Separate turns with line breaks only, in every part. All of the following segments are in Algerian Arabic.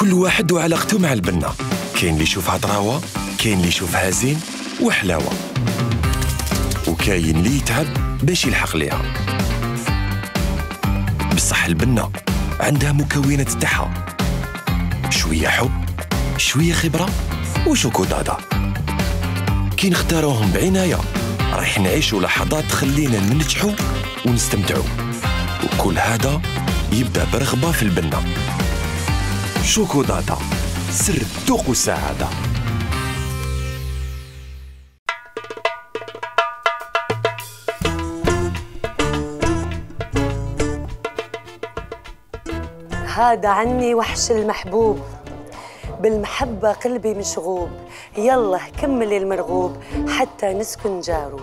كل واحد وعلاقته مع البنة، كاين اللي يشوفها طراوة، كاين اللي يشوفها زين وحلاوة، وكاين اللي يتعب باش يلحق ليها. بصح البنة عندها مكونات تاعها، شوية حب، شوية خبرة وشوكولاتة. كي نختاروهم بعناية رايح نعيشوا لحظات تخلينا ننجحوا ونستمتعوا، وكل هذا يبدأ برغبة في البنة. شوكولاتة، سر الذوق والسعادة.
هذا عني وحش المحبوب، بالمحبة قلبي مشغوب، يلا كملي المرغوب حتى نسكن جارو.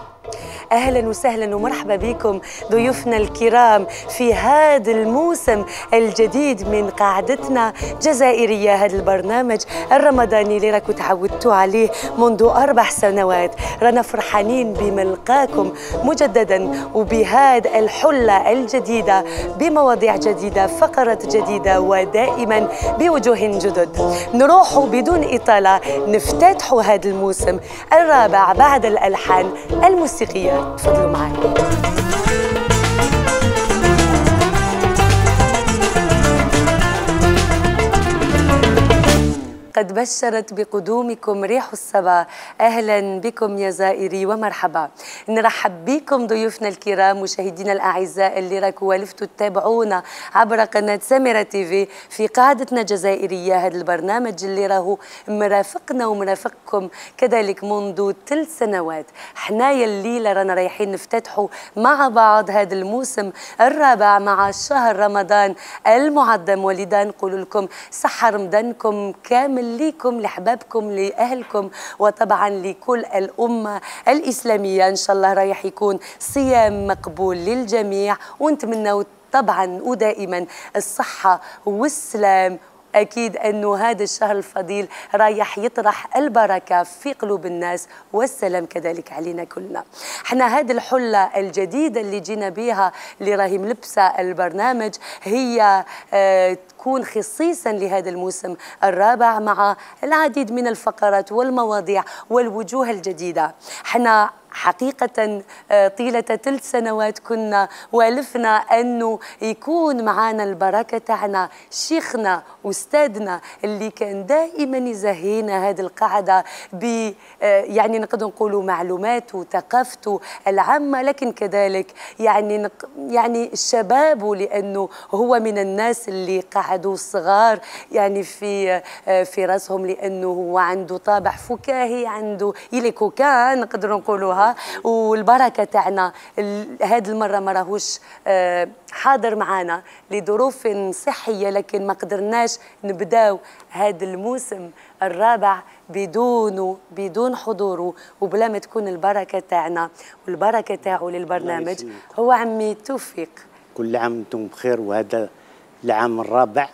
أهلا وسهلا ومرحبا بكم ضيوفنا الكرام في هذا الموسم الجديد من قاعدتنا جزائرية، هذا البرنامج الرمضاني اللي راكم تعودتوا عليه منذ 4 سنوات. رانا فرحانين بملقاكم مجددا وبهذه الحلة الجديدة بمواضيع جديدة، فقرات جديدة، ودائما بوجوه جدد. نروحوا بدون إطالة نفتتحوا هذا الموسم الرابع بعد الألحان الموسيقية. تفضلوا معي. قد بشرت بقدومكم ريح الصبا، أهلا بكم يا زائري ومرحبا. نرحب بكم ضيوفنا الكرام، مشاهدينا الأعزاء اللي راكم والفتوا تتابعونا عبر قناة سميرة تيفي في قاعدتنا جزائرية، هذا البرنامج اللي راهو مرافقنا ومرافقكم كذلك منذ 3 سنوات. حنايا الليلة رانا رايحين نفتتحوا مع بعض هذا الموسم الرابع مع شهر رمضان المعظم، ولذا نقول لكم صحة رمضانكم كامل ليكم، لحبابكم، لأهلكم، وطبعا لكل الأمة الإسلامية. إن شاء الله رايح يكون صيام مقبول للجميع، ونتمنى طبعا ودائما الصحة والسلام. أكيد أنه هذا الشهر الفضيل رايح يطرح البركة في قلوب الناس والسلام كذلك علينا كلنا. احنا هذه الحلة الجديدة اللي جينا بها اللي راهي ملبسة البرنامج هي تكون خصيصا لهذا الموسم الرابع مع العديد من الفقرات والمواضيع والوجوه الجديدة. احنا حقيقة طيلة 3 سنوات كنا والفنا أنه يكون معنا البركة تاعنا شيخنا أستاذنا اللي كان دائما يزهينا هذه القاعدة ب يعني نقدر نقولوا معلوماته وثقافته العامة، لكن كذلك يعني الشباب، لأنه هو من الناس اللي قعدوا صغار يعني في راسهم، لأنه هو عنده طابع فكاهي، عنده كان نقدر نقولوها. والبركة تاعنا هذه المرة ما راهوش حاضر معنا لظروف صحية، لكن ما قدرناش نبداو هذا الموسم الرابع بدون حضوره وبلا ما تكون البركة تاعنا والبركة تاعو للبرنامج. هو عمي توفيق.
كل عام وانتم بخير، وهذا العام الرابع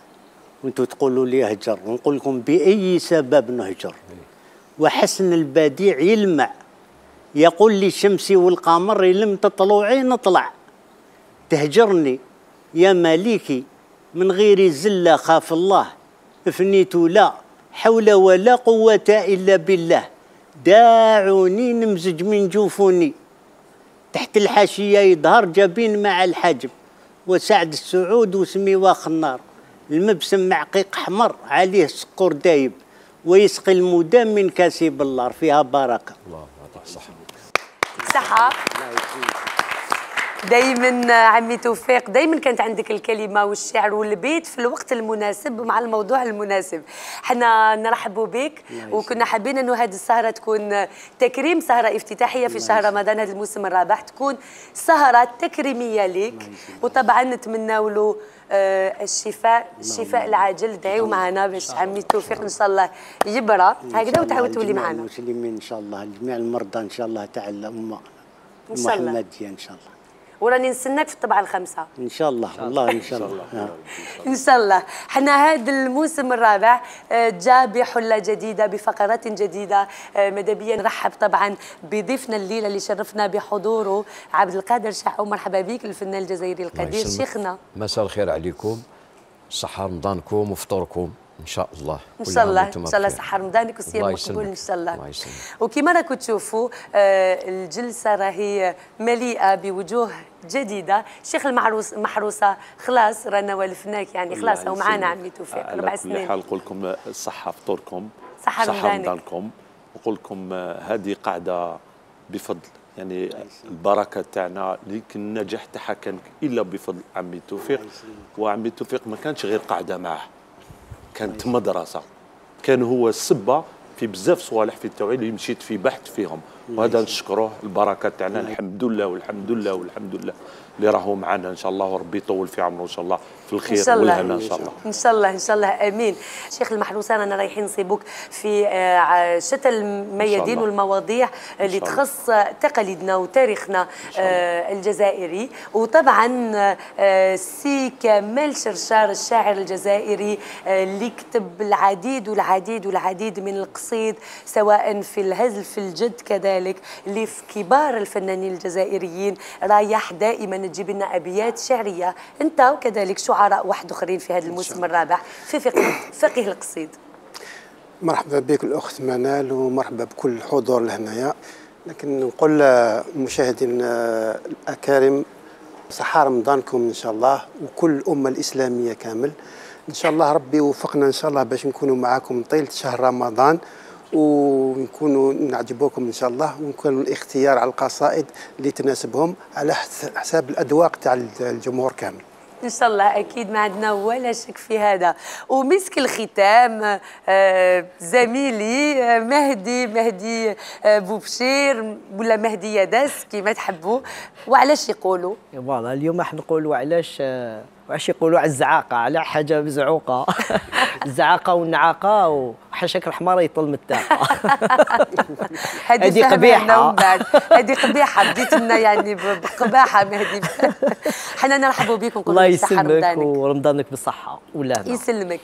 وانتم تقولوا لي اهجر، ونقول لكم بأي سبب نهجر. وحسن البديع يلمع، يقول لي الشمس والقمر لم تطلعي نطلع، تهجرني يا مالكي من غير زلة خاف الله، افنيت لا حول ولا قوة إلا بالله، داعوني نمزج من جوفوني، تحت الحاشية يظهر جبين مع الحجب، وسعد السعود وسمي واخ النار، المبسم معقيق حمر عليه سكر دايب، ويسقي المدام من كاسب النار، فيها بركة.
الله يعطيك الصحة.
صحة دايما عمي توفيق، دايما كانت عندك الكلمة والشعر والبيت في الوقت المناسب مع الموضوع المناسب. احنا نرحبوا بك، وكنا حابين انه هذه السهرة تكون تكريم، سهرة افتتاحية في شهر رمضان هذا الموسم الرابع، تكون سهرة تكريمية لك، وطبعا نتمناو له الشفاء العاجل. دعيوا معنا باش عمي توفيق ان شاء الله يبرى هكذا، وتعاود تولي معنا.
المسلمين ان شاء الله، جميع المرضى ان شاء الله تاع الامه محمديه ان شاء الله.
وراني نستناك في الطبعة الخامسة
ان شاء الله. والله ان شاء الله
ان شاء الله. حنا هذا الموسم الرابع جاء بحلة جديدة بفقرات جديدة. ماذا بيا نرحب طبعا بضيفنا الليلة اللي شرفنا بحضوره عبد القادر شحو. مرحبا بك الفنان الجزائري القدير شيخنا.
مساء الخير عليكم، صحة رمضانكم وفطوركم ان شاء الله.
ان شاء الله ان شاء الله صحه رمضانك وصيام مقبول ان شاء الله.
الله يسلمك.
وكما راكم تشوفوا الجلسه راهي مليئه بوجوه جديده. شيخ المحروسه خلاص رانا ولفناك يعني خلاص او معانا عمي توفيق 4 سنين.
على كل حال نقول لكم الصحه فطوركم
صحه
رمضانكم. نقول لكم هذه قاعده بفضل يعني البركه تاعنا، لكن النجاح تاعها كان الا بفضل عمي توفيق. وعمي توفيق ما كانش غير قاعده معه، كانت مدرسه، كان هو السبه في بزاف صوالح في التوعيه اللي مشيت في بحث فيهم، وهذا نشكروه البركه تاعنا. الحمد لله والحمد لله والحمد لله اللي راهو معنا ان شاء الله، وربي يطول في عمره ان شاء الله في الخير والهنا ان شاء الله.
ان شاء الله ان شاء الله امين. شيخ المحروسه رانا رايحين نصيبوك في شتى الميادين والمواضيع اللي تخص تقاليدنا وتاريخنا الجزائري. وطبعا سي كمال شرشار الشاعر الجزائري اللي كتب العديد والعديد والعديد من القصيد سواء في الهزل في الجد كذلك، اللي في كبار الفنانين الجزائريين رايح دائما تجيب لنا ابيات شعريه انت وكذلك شعراء واحد اخرين في هذا الموسم الرابع في فقه القصيد.
مرحبا بك الاخت منال ومرحبا بكل الحضور لهنايا. لكن نقول المشاهدين الاكارم صحة رمضانكم ان شاء الله وكل الامه الاسلاميه كامل. ان شاء الله ربي يوفقنا ان شاء الله باش نكونوا معاكم طيله شهر رمضان ونكونوا نعجبوكم ان شاء الله، ونكون الاختيار على القصائد اللي تناسبهم على حساب الاذواق تاع الجمهور كامل.
ان شاء الله اكيد ما عندنا ولا شك في هذا. ومسك الختام زميلي مهدي بوبشير ولا مهدي يداس كما تحبوا. وعلاش يقولوا
فوالا اليوم راح نقولوا علاش يقولوا على الزعاقه، على حاجه مزعوقه الزعاقه والنعاقه وحشك الحمار يطل من التاقه.
هذه قبيحه، هذه قبيحه بديت لنا يعني بقباحه مهدي. حنا نرحبوا بكم.
الله يسلمك ورمضانك بالصحه والهنا.
يسلمك.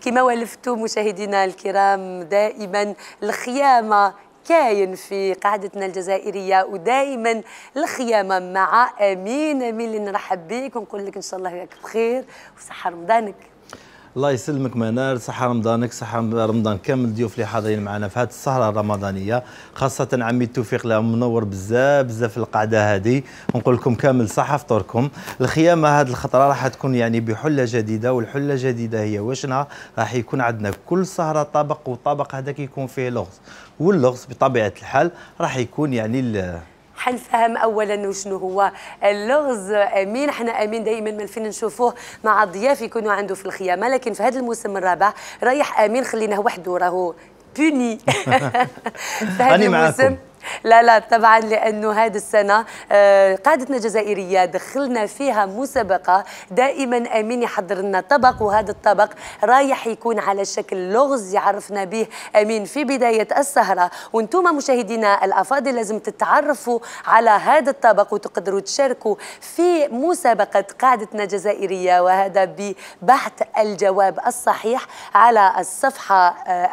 كما ولفتوا مشاهدينا الكرام دائما الخيامه كاين في قاعدتنا الجزائريه، ودائما الخيامه مع امين اللي نرحب بك ونقول لك ان شاء الله ياك بخير وصحه رمضانك.
الله يسلمك منال، صحة رمضانك، صحة رمضان كامل الضيوف اللي حاضرين معنا في هذه السهرة الرمضانية، خاصة عمي التوفيق اللي منور بزاف القعدة هذه، ونقول لكم كامل صحة فطوركم. الخيامة هذه الخطرة راح تكون يعني بحلة جديدة، والحلة الجديدة هي واشنها؟ راح يكون عندنا كل سهرة طبق، والطبق هذاك يكون فيه لغز، واللغز بطبيعة الحال راح يكون يعني
حنفهم اولا وشنو هو اللغز. امين احنا امين دائما ما فينا نشوفوه مع الضياف يكونوا عنده في الخيامه، لكن في هذا الموسم الرابع رايح امين خليناه وحده راهو بوني في هذا الموسم. لا طبعا لانه هذه السنه قاعدتنا الجزائريه دخلنا فيها مسابقه دائما امين يحضر لنا طبق، وهذا الطبق رايح يكون على شكل لغز يعرفنا به امين في بدايه السهره. وانتم مشاهدينا الافاضل لازم تتعرفوا على هذا الطبق وتقدروا تشاركوا في مسابقه قاعدتنا الجزائريه، وهذا ببحث الجواب الصحيح على الصفحه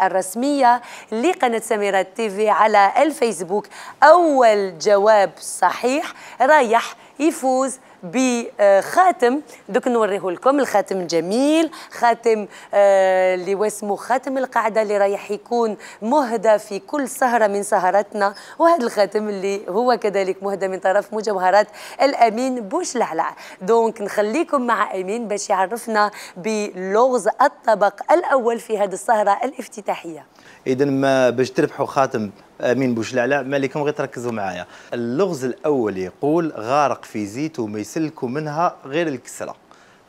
الرسميه لقناه سميرة تيفي على الفيسبوك. أول جواب صحيح رايح يفوز بخاتم، دوك نوريه لكم. الخاتم جميل، خاتم اللي واسمه خاتم القعده اللي رايح يكون مهدى في كل سهره من سهراتنا، وهذا الخاتم اللي هو كذلك مهدى من طرف مجوهرات الامين بوشلعلع. دونك نخليكم مع امين باش يعرفنا بلغز الطبق الاول في هذه السهره الافتتاحيه.
اذا ما باش تربحوا خاتم امين بوشلعلع ما عليكم غير تركزوا معايا. اللغز الاول يقول غارق في زيت وما يسلكوا منها غير الكسره.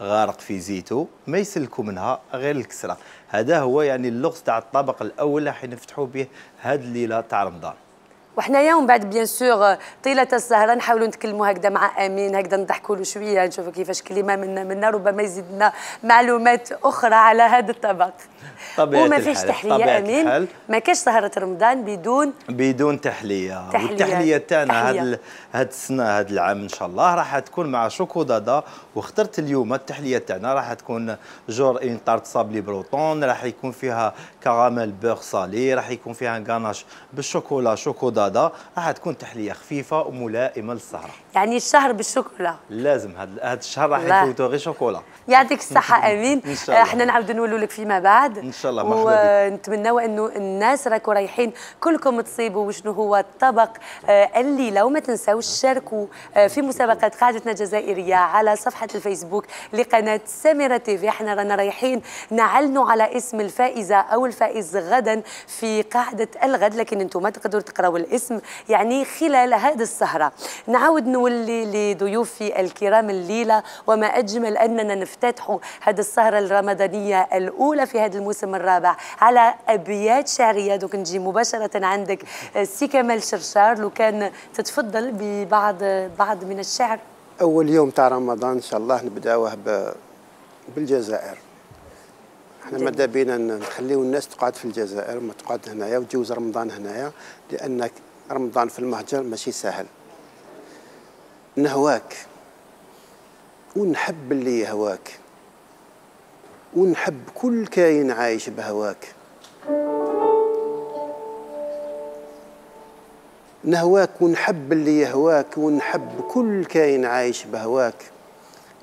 غارق في زيتو ما يسلكوا منها غير الكسره. هذا هو يعني اللغز تاع الطبق الاول اللي حنفتحوا به هذه الليله تاع رمضان.
وحنايا ومن بعد بيان سور طيله السهره نحاولوا نتكلموا هكذا مع امين، هكذا نضحكوا له شويه، نشوفوا كيفاش كلمه منا ربما يزيدنا معلومات اخرى على هذا الطبق. وما فيش تحليه امين، ما كاش سهره رمضان بدون تحليه.
والتحليه تاعنا هاد السنه هاد العام ان شاء الله راح تكون مع شوكولاته، واخترت اليوم التحليه تاعنا راح تكون جور اون طارت صابلي بروطون، راح يكون فيها كراميل بور صالي، راح يكون فيها غاناش بالشوكولا شوكولاته، راح تكون تحليه خفيفه وملائمه للسهره.
يعني الشهر بالشوكولا
لازم هذا الشهر راح يفوتوا غير شوكولا.
يعطيك الصحه امين. احنا نعاودوا نقولوا لك فيما بعد
ان شاء الله. مرحبا بك.
ونتمنوا انه الناس راكم رايحين كلكم تصيبوا وشنو هو الطبق الليله. وما تنساوش شاركوا في مسابقه قاعدتنا الجزائريه على صفحه الفيسبوك لقناه سميرة تيفي. احنا رانا رايحين نعلنوا على اسم الفائزه او الفائز غدا في قاعده الغد، لكن انتم ما تقدروا تقراوا الاسم يعني خلال هذه السهره. نعاود نولي لضيوفي الكرام الليله، وما اجمل اننا نفتتحوا هذه السهره الرمضانيه الاولى في هذا الموسم الرابع على ابيات شعريه. دوك نجي مباشره عندك سي كمال شرشار، لو كان تتفضل ببعض من الشعر.
اول يوم تاع رمضان ان شاء الله نبداوه بالجزائر. احنا ماذا بينا نخليو الناس تقعد في الجزائر وما تقعد هنايا وتجوز رمضان هنايا، لان رمضان في المهجر ماشي سهل. نهواك ونحب اللي يهواك ونحب كل كائن عايش بهواك. نهواك ونحب اللي يهواك ونحب كل كائن عايش بهواك.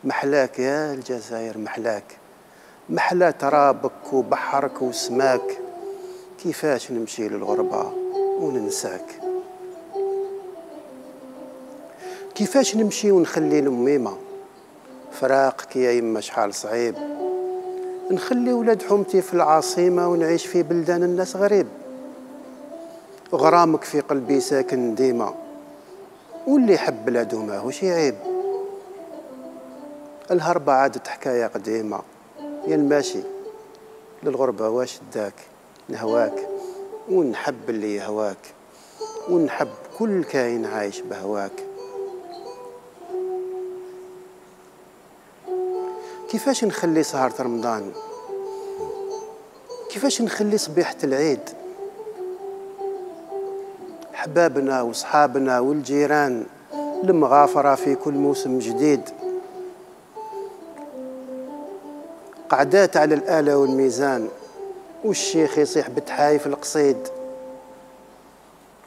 محلاك يا الجزائر محلاك، محلا ترابك وبحرك وسماك. كيفاش نمشي للغربة وننساك، كيفاش نمشي ونخلي الأميمة. فراقك يا يما شحال صعيب، نخلي ولاد حومتي في العاصمة ونعيش في بلدان الناس غريب. غرامك في قلبي ساكن ديما، واللي يحب بلادو ماهوش عيب. الهربة عادت حكاية قديمة، يا الماشي للغربة واش داك. نهواك ونحب اللي يهواك ونحب كل كائن عايش بهواك. كيفاش نخلي سهرة رمضان، كيفاش نخلي صبيحة العيد. حبابنا وصحابنا والجيران المغافرة في كل موسم جديد. قعدات على الآلة والميزان والشيخ يصيح بتحايف القصيد.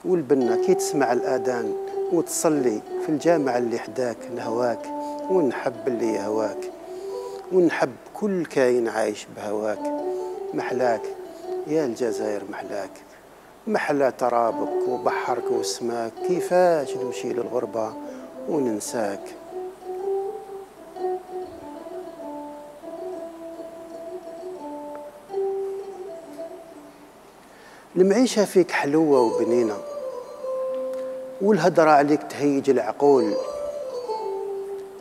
والبنة كي تسمع الآذان وتصلي في الجامع اللي حداك. نهواك ونحب اللي يهواك ونحب كل كائن عايش بهواك. محلاك يا الجزائر محلاك، محلا ترابك وبحرك وسماك. كيفاش نمشي للغربة وننساك. المعيشة فيك حلوة وبنينة، والهدرة عليك تهيج العقول.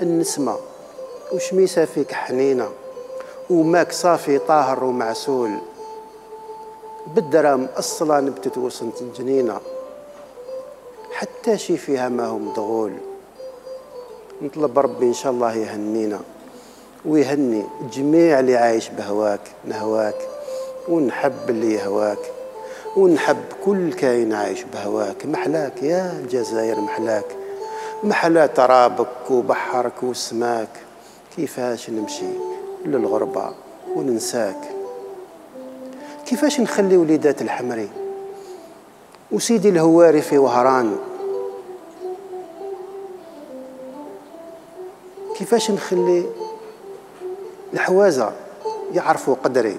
النسمة وشميسة فيك حنينة، وماك صافي طاهر ومعسول. بالدرام أصلا نبتت وسط الجنينة، حتى شي فيها ما هو مضغول. نطلب ربي إن شاء الله يهنينا ويهني جميع اللي عايش بهواك. نهواك ونحب اللي يهواك ونحب كل كائن عايش بهواك. محلاك يا الجزائر محلاك، محلا ترابك وبحرك وسماك. كيفاش نمشي للغربة وننساك. كيفاش نخلي وليدات الحمري وسيدي الهواري في وهران. كيفاش نخلي الحوازة يعرفوا قدري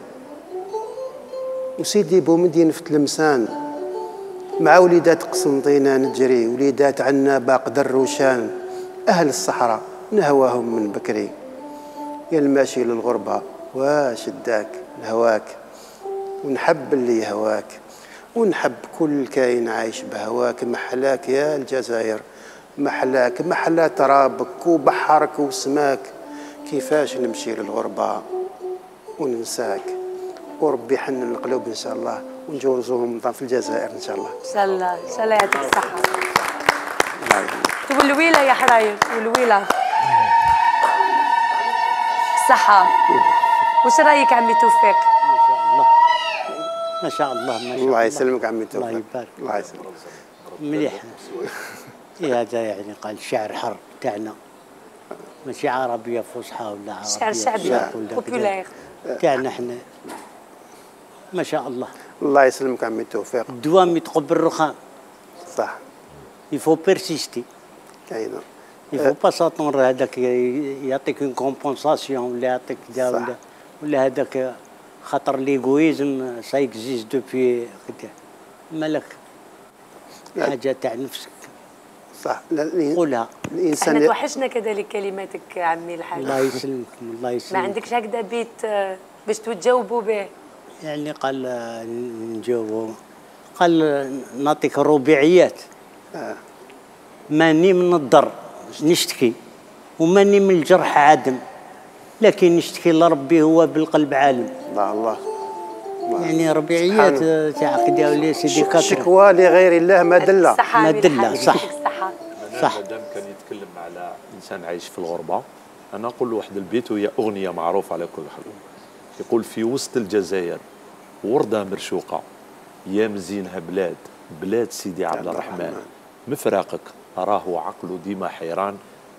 وسيدي بومدين في تلمسان. مع وليدات قسنطينة نجري وليدات عنابة قدر وشان. أهل الصحراء نهواهم من بكري، يا الماشي للغربة واش داك. نهواك ونحب اللي يهواك ونحب كل كائن عايش بهواك. محلاك يا الجزائر محلاك، محلا ترابك وبحرك وسماك. كيفاش نمشي للغربة وننساك. وربي يحنن القلوب إن شاء الله ونجوزوا رمضان في الجزائر إن شاء الله.
إن شاء الله إن شاء الله يعطيك الصحة. والويلة يا حراير والويلة الصحة. وش رايك عمي توفيق؟
ما شاء الله ما شاء الله.
الله يسلمك عمي توفيق.
الله يبارك.
الله يسلمك.
مليح. هذا يعني قال شعر حر تاعنا، ماشي عربية فصحى ولا عربية
شعر شعبي بوبولير
تاعنا احنا. ما شاء الله.
الله يسلمك عمي توفيق.
الدوام يتقبل الرخام.
صح.
يفو بيرسيستي.
أيضا.
يفو با ساتوندر هذاك يعطيك اون كومبونساسيون ولا يعطيك دا ولا هذاك خاطر ليغويزم سا اكزيست دوبي مالك حاجه تاع نفسك
صح.
قولها.
احنا
الانسان
توحشنا كذلك كلماتك عمي الحاج.
الله يسلمكم الله
ما
يسلمك.
عندكش هكذا بيت باش تجاوبوا به؟
يعني قال نجاوبوا، قال نعطيك الرباعيات. ماني من الضر نشتكي، وماني من الجرح عادم، لكن نشتكي لربي هو بالقلب عالم.
الله
يعني ربيعيات تاع كدا ولا سيدي كاتر.
شكوى لغير الله ما دل.
ما دل. صح صح.
مادام كان يتكلم على انسان عايش في الغربه، انا نقول له واحد البيت وهي اغنيه معروفه على كل حال. يقول في وسط الجزائر ورده مرشوقه، يا مزينها بلاد بلاد سيدي عبد الرحمن، مفراقك اراه عقله ديما حيران،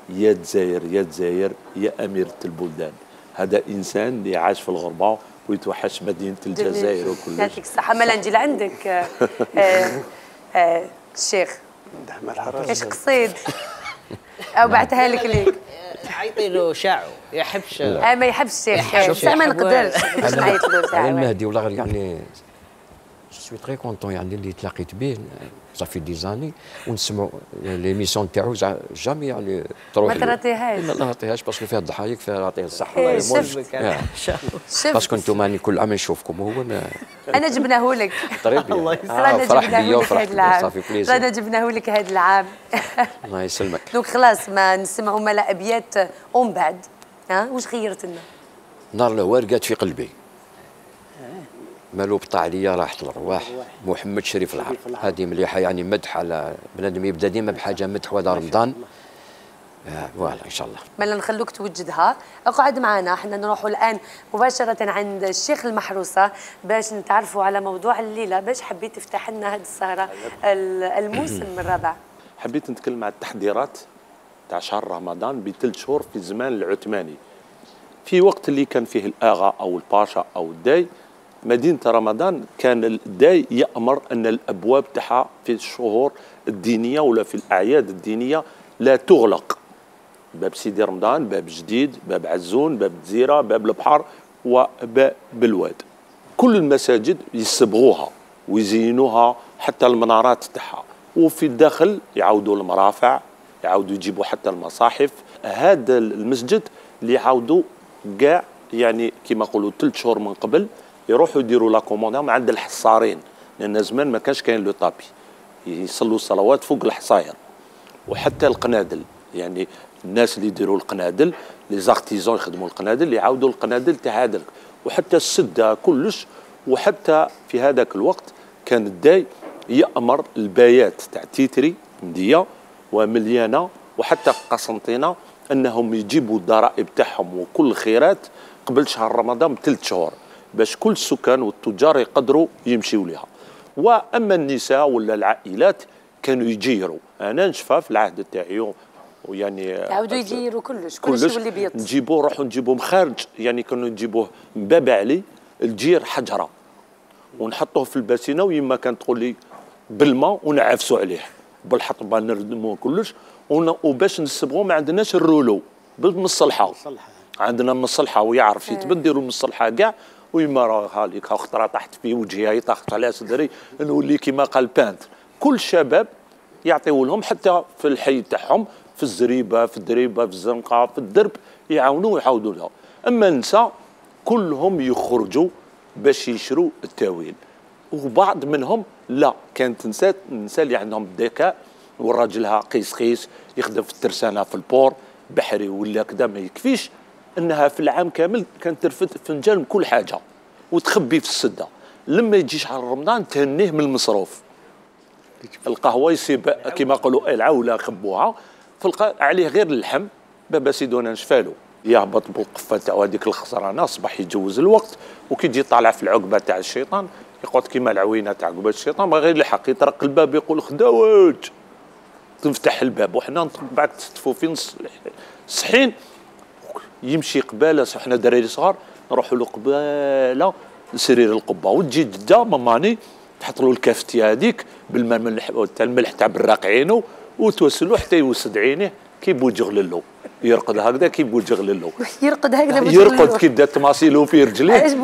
يا جزائر يا جزائر يا اميره البلدان. هذا انسان اللي عاش في الغربه ويتوحش مدينه الجزائر وكل شيء.
يعطيك الصحه. مالا نجي لعندك الشيخ، ايش قصيد او بعتها لك ليك؟
عيطي له شاعو يحبش.
ما يحبش الشيخ بصح ما نقدرش باش نعيط له
على
ساعه.
المهدي والله غير يعني سوي تري كونتون يعني اللي تلاقيت به صافي دي زاني ونسمعوا ليميسيون تاعو جامي يعني تروح
ما تراتيهاش.
ما نعطيهاش باسكو فيها الضحايق فيها يعطيه الصحه
إيه،
الله يموت.
شفت. شفت.
باسكو انتم راني كل عام نشوفكم وهو ما
انا جبناه لك.
طريب
رانا
فرح
جبناه
بيا
لك
وفرح
هذا العام.
صافي بليزير.
رانا جبناه لك هذا العام.
الله يسلمك.
دونك خلاص ما نسمعوا مالا ابيات ومن بعد واش خيرت لنا؟
نار الهوار قات في قلبي، مالو بطا عليا راحت الارواح، محمد شريف العار. هذه مليحه يعني مدح على بنادم يبدا ديما بحاجه مدح وهذا رمضان. فوالا ان شاء الله.
مالا نخلوك توجدها. اقعد معنا، احنا نروحوا الان مباشره عند الشيخ المحروسه باش نتعرفوا على موضوع الليله، باش حبيت تفتح لنا هذه السهره الموسم الرابع.
حبيت نتكلم على التحضيرات تاع شهر رمضان بثلاث شهور في الزمان العثماني، في وقت اللي كان فيه الاغا او الباشا او الداي. مدينه رمضان كان الداي يامر ان الابواب تاعها في الشهور الدينيه ولا في الاعياد الدينيه لا تغلق. باب سيدي رمضان، باب جديد، باب عزون، باب الجزيره، باب البحر، وباب بالواد. كل المساجد يصبغوها ويزينوها حتى المنارات تاعها، وفي الداخل يعاودوا المرافع، يعاودوا يجيبوا حتى المصاحف. هذا المسجد اللي يعاودوا كاع يعني كما نقولوا 3 شهور من قبل يروحوا يديروا لا كوموندام عند الحصارين، لان زمان ما كانش كاين لو طابي، يصلوا الصلوات فوق الحصاير. وحتى القنادل، يعني الناس اللي يديروا القنادل لي زارتيزون يخدموا القنادل اللي يعاودوا القنادل تاع هذاك، وحتى السده كلش. وحتى في هذاك الوقت كان الداي يأمر البايات تاع تيتري مديه ومليانه وحتى قسنطينه انهم يجيبوا الضرائب تاعهم وكل الخيرات قبل شهر رمضان ب3 شهور باش كل السكان والتجار يقدروا يمشيوا لها. واما النساء ولا العائلات كانوا يجيروا. انا نشفى في العهد تاعي ويعني
يعاودوا يجيروا كلش يولي بيض.
نجيبوه نروحوا نجيبوه خارج، يعني كانوا نجيبوه من باب علي الجير حجره ونحطوه في الباسينه، ويما كانت تقول لي بالماء ونعفسوا عليه بالحطبه نردموه كلش. وباش نسبغوه ما عندناش الرولو بالمصلحه، عندنا مصلحه ويعرف يتبدلوا المصلحه كاع. ويما راها ليك خطره طاحت في وجهي طاحت على صدري نولي كيما قال بانتر. كل شباب يعطيو لهم حتى في الحي تاعهم في الزريبه في الدريبه في الزنقه في الدرب يعاونوا ويعاودوا لهم. اما النساء كلهم يخرجوا باش يشروا التاويل، وبعض منهم لا كانت النساء اللي عندهم الذكاء وراجلها قيس قيس يخدم في الترسانه في البور بحري ولا كذا ما يكفيش انها في العام كامل كانت ترفد فنجان كل حاجه وتخبي في السده. لما يجي شهر رمضان تهنيه من المصروف. القهوه يصيب كما يقولوا العوله خبوها فلقى عليه غير اللحم بابا سيدونا نشفالو يهبط بالقفه تاعو هذيك الخسرانه اصبح يجوز الوقت. وكي يجي طالع في العقبه تاع الشيطان يقعد كيما العوينه تاع عقبه الشيطان ما غير يلحق يطرق الباب يقول خداوج تفتح الباب وحنا بعد تستفوا في نص الصحين يمشي قباله. حنا دراري صغار نروحوا له قباله لسرير القبه وتجي جده ماماني تحط له الكافتيه هذيك بالماء تاع الملح تاع براق عينه وتوسلو حتى يوسد عينيه كي بوجغللو يرقد هكذا كي بوجغللو
يرقد هكذا
يرقد كي بدا تماصيلو في رجليه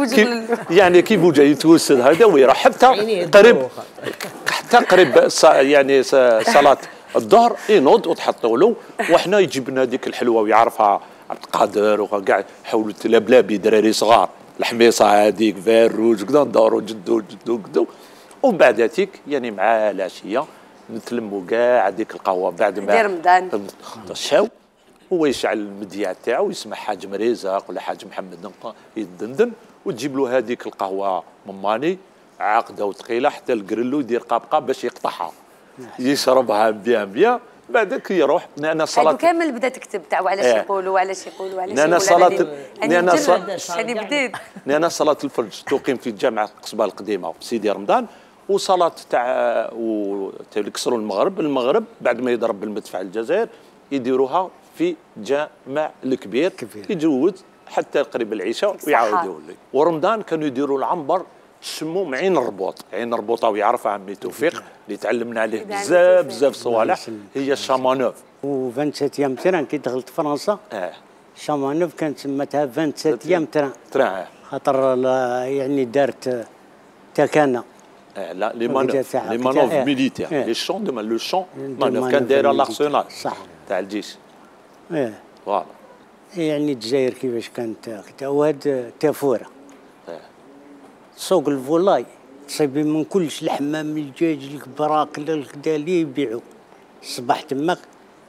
يعني كي بوجا يتوسد هذا ويروح حتى قريب يعني صلاه الظهر ينوض وتحطوا له، وحنا يجيب لنا هذيك الحلوه ويعرفها عبد القادر وكاع حولوا بلابلابي دراري صغار الحميصه هذيك فاروج كذا ندوروا جدو ومن بعد هاتيك يعني مع العشيه نتلموا كاع هذيك القهوه بعد ما
رمضان
الشاو هو يشعل المذياع تاعو ويسمع حاج مريزق ولا حاج محمد يدندن وتجيب له هذيك القهوه مماني عاقده وثقيله حتى القرلو يدير قابقه باش يقطعها يشربها بيان بعدك يروح. انا صلاه
كامل بدا تكتب تاع وعلاش يقولوا وعلاش يقولوا وعلاش
انا صلاه انا صلاه الفجر تقيم في جامع قصبه القديمه سيدي رمضان، وصلاه تاع يكسروا المغرب بعد ما يضرب بالمدفع الجزائر يديروها في جامع الكبير يجوز حتى قريب العشاء ويعاودوا لي. ورمضان كانوا يديروا العنبر سموم عين الربوط، عين الربوطه ويعرفها عمي توفيق اللي تعلمنا عليه بزاف صوالح هي الشامانوف.
و 27 تران كي دخلت فرنسا شامانوف كانت سمتها 27 تران خاطر يعني دارت تكانا
لا لي مانوف ميليتير لي شون دو لو شون مانوف كان دايره لارسونال
صح
تاع الجيش.
فوالا يعني الجزائر كيفاش كانت وهاد تافوره سوق الفولاي تصيبي من كلش لحمه من الدجاج الكبراك كدا اللي يبيعوا الصباح تماك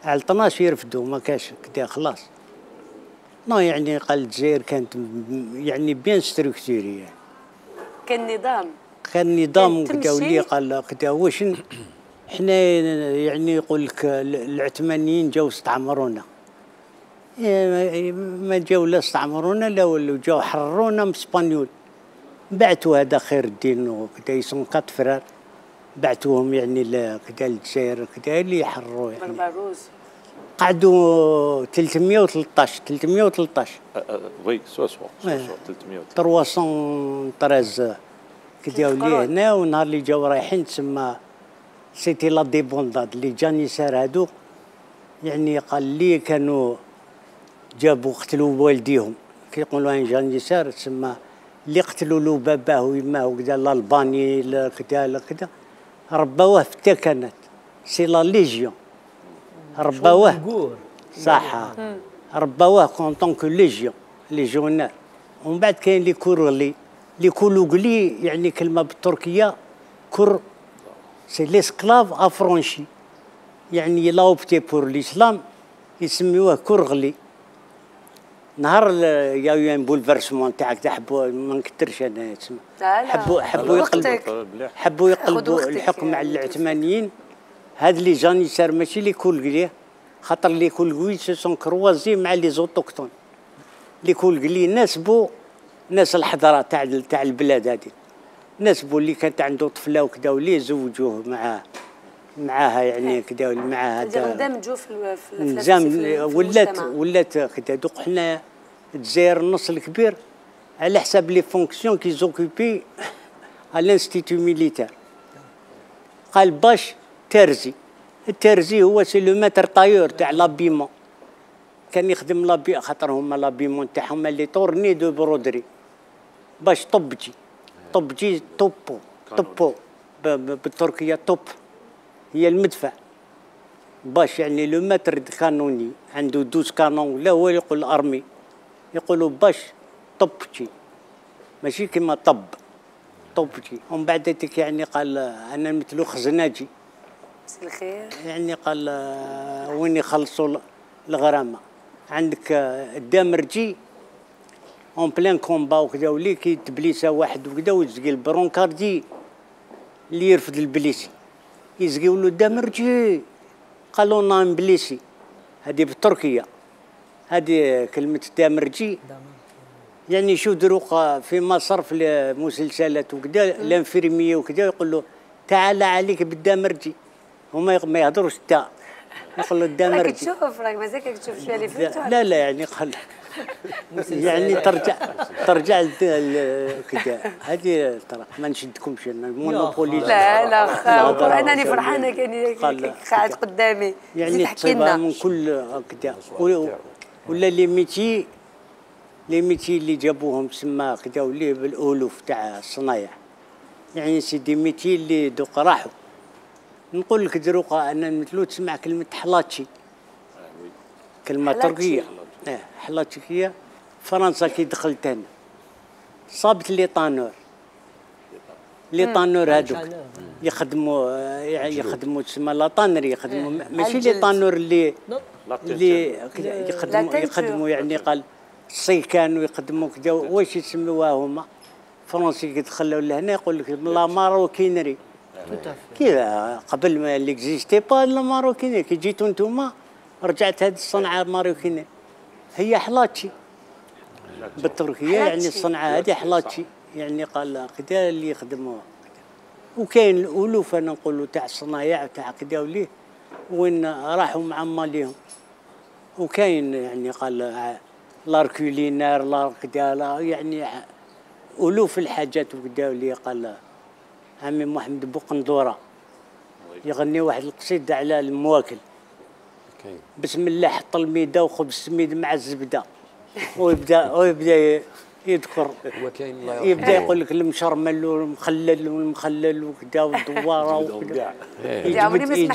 على 12 يرفدوا ما كاش كدا خلاص. ما يعني قال الجزائر كانت يعني بيان ستركتوري كان نظام كدا ولي قال كدا واش حنا يعني يقول لك العثمانيين جاوا استعمرونا ما جاوا لا استعمرونا لا ولاو جاوا حررونا من اسبانيول. بعثوا هذا خير الدين وكذا يسون 4 فرار بعثوهم يعني كذا للجزائر كذا اللي يحرروا يعني قعدوا 313
وي سوا
313 كذا ولي هنا. ونهار اللي جاوا رايحين تسمى سيتي لا ديبونداد اللي جانيسار هادو يعني قال لي كانوا جابوا قتلوا والديهم كيقولوا ان جانيسار تسمى اللي قتلوا له باباه ويماه وكذا الالباني كذا رباوه في التكنات سي لا ليجيون رباوه صح رباوه كونطون كو ليجيونير. ومن بعد كاين لي كورلي لي كولوغلي يعني كلمه بالتركيه كور سي ليسكلاف افرونشي يعني لا اوبتي بور الاسلام يسميوه كورغلي. نهار يا ان بولفيرسمون تاعك تحبوا ما نكثرش انا تسمى حبوا يقلبوا الحكم على العثمانيين. هاد لي جانيسار ماشي لي كولغلي خاطر لي كولغوي سو سون كروازي مع لي زوتوكتون. لي كولغلي ناسبوا ناس الحضاره تاع البلاد هذه ناسبوا اللي كانت عنده طفله وكذا واللي زوجوه معاها يعني كذا مع هذا
اندمجوا في
ولات كذا. دوك حنا الجزائر النص الكبير على حساب لي فونكسيون كي زوكوبي على الانستيتو ميليتير. قال باش الترزي هو سي لو ماتر طايور تاع لابيمون كان يخدم لابي خاطر هما لابيمون تاعهم اللي تورني دو برودري باش طبجي توبو بالتركيه توب هي المدفع باش يعني لو ماتر كانوني عنده 12 كانون ولا هو يقول الارمي يقولوا باش طبجي ماشي كيما طبجي. ومن بعد ديك يعني قال انا مثلو خزناجي
الخير
يعني قال وين يخلصوا الغرامه عندك الدامرجي اون بلان كومبا وكذا ولي كي تبليسه واحد وكذا ويزقي البرونكاردي اللي يرفد البليسي يزقيو له الدامرجي قالوا نايم بليسي هذه بالتركيه هذه كلمه الدامرجي يعني شو دروق في مصر في المسلسلات وكذا الانفيرميه وكذا يقول له تعال عليك بالدامرجي هما ما يهضروش تا يقول له الدامرجي
راك تشوف راك مازالك تشوف شويه اللي فهمتوا
لا يعني قال يعني ترجع كذا هذه ترى ما نشدكمش انا المونوبولي.
لا انا فرحانه كان قاعد قدامي
يعني تصيبها من كل كذا. ولا لي ميتي اللي جابوهم تسمى كذا وليه بالالوف تاع الصنايع. يعني سيدي ميتي اللي دوك راحوا. نقول لك دروقا انا مثلو تسمع كلمه حلاتشي، كلمه تركيه حلاتشيكيه. فرنسا كي دخلت انا صابت لي طانور هذوك يخدموا تسمى لا طانري، يخدموا ماشي لي طانور اللي يخدموا يعني قال الصيكان ويخدموا كذا. واش يسموها هما فرنسي كي دخلوا لهنا يقول لك لا ماروكينري كذا. قبل ما اللي اكزيستي با لا ماروكينري، كي جيتوا نتوما رجعت هذه الصنعه ماروكينري هي حلاتشي بالتركيه. يعني الصنعه هذه حلاتشي يعني قال كذا اللي يخدموها. وكاين الالوف انا نقولوا تاع الصنايع تاع كذا وليه وين راحوا مع ماليهم. وكاين يعني قال لاركولينار لا كذا يعني الوف الحاجات وكذا وليه. قال عمي محمد بوقندوره يغني واحد القصيده على المواكل. بسم الله حط الميده وخبز السميد مع الزبده ويبدا يذكر. يبدا يقول لك المشرمل والمخلل وكذا والدواره وكذا. يجبد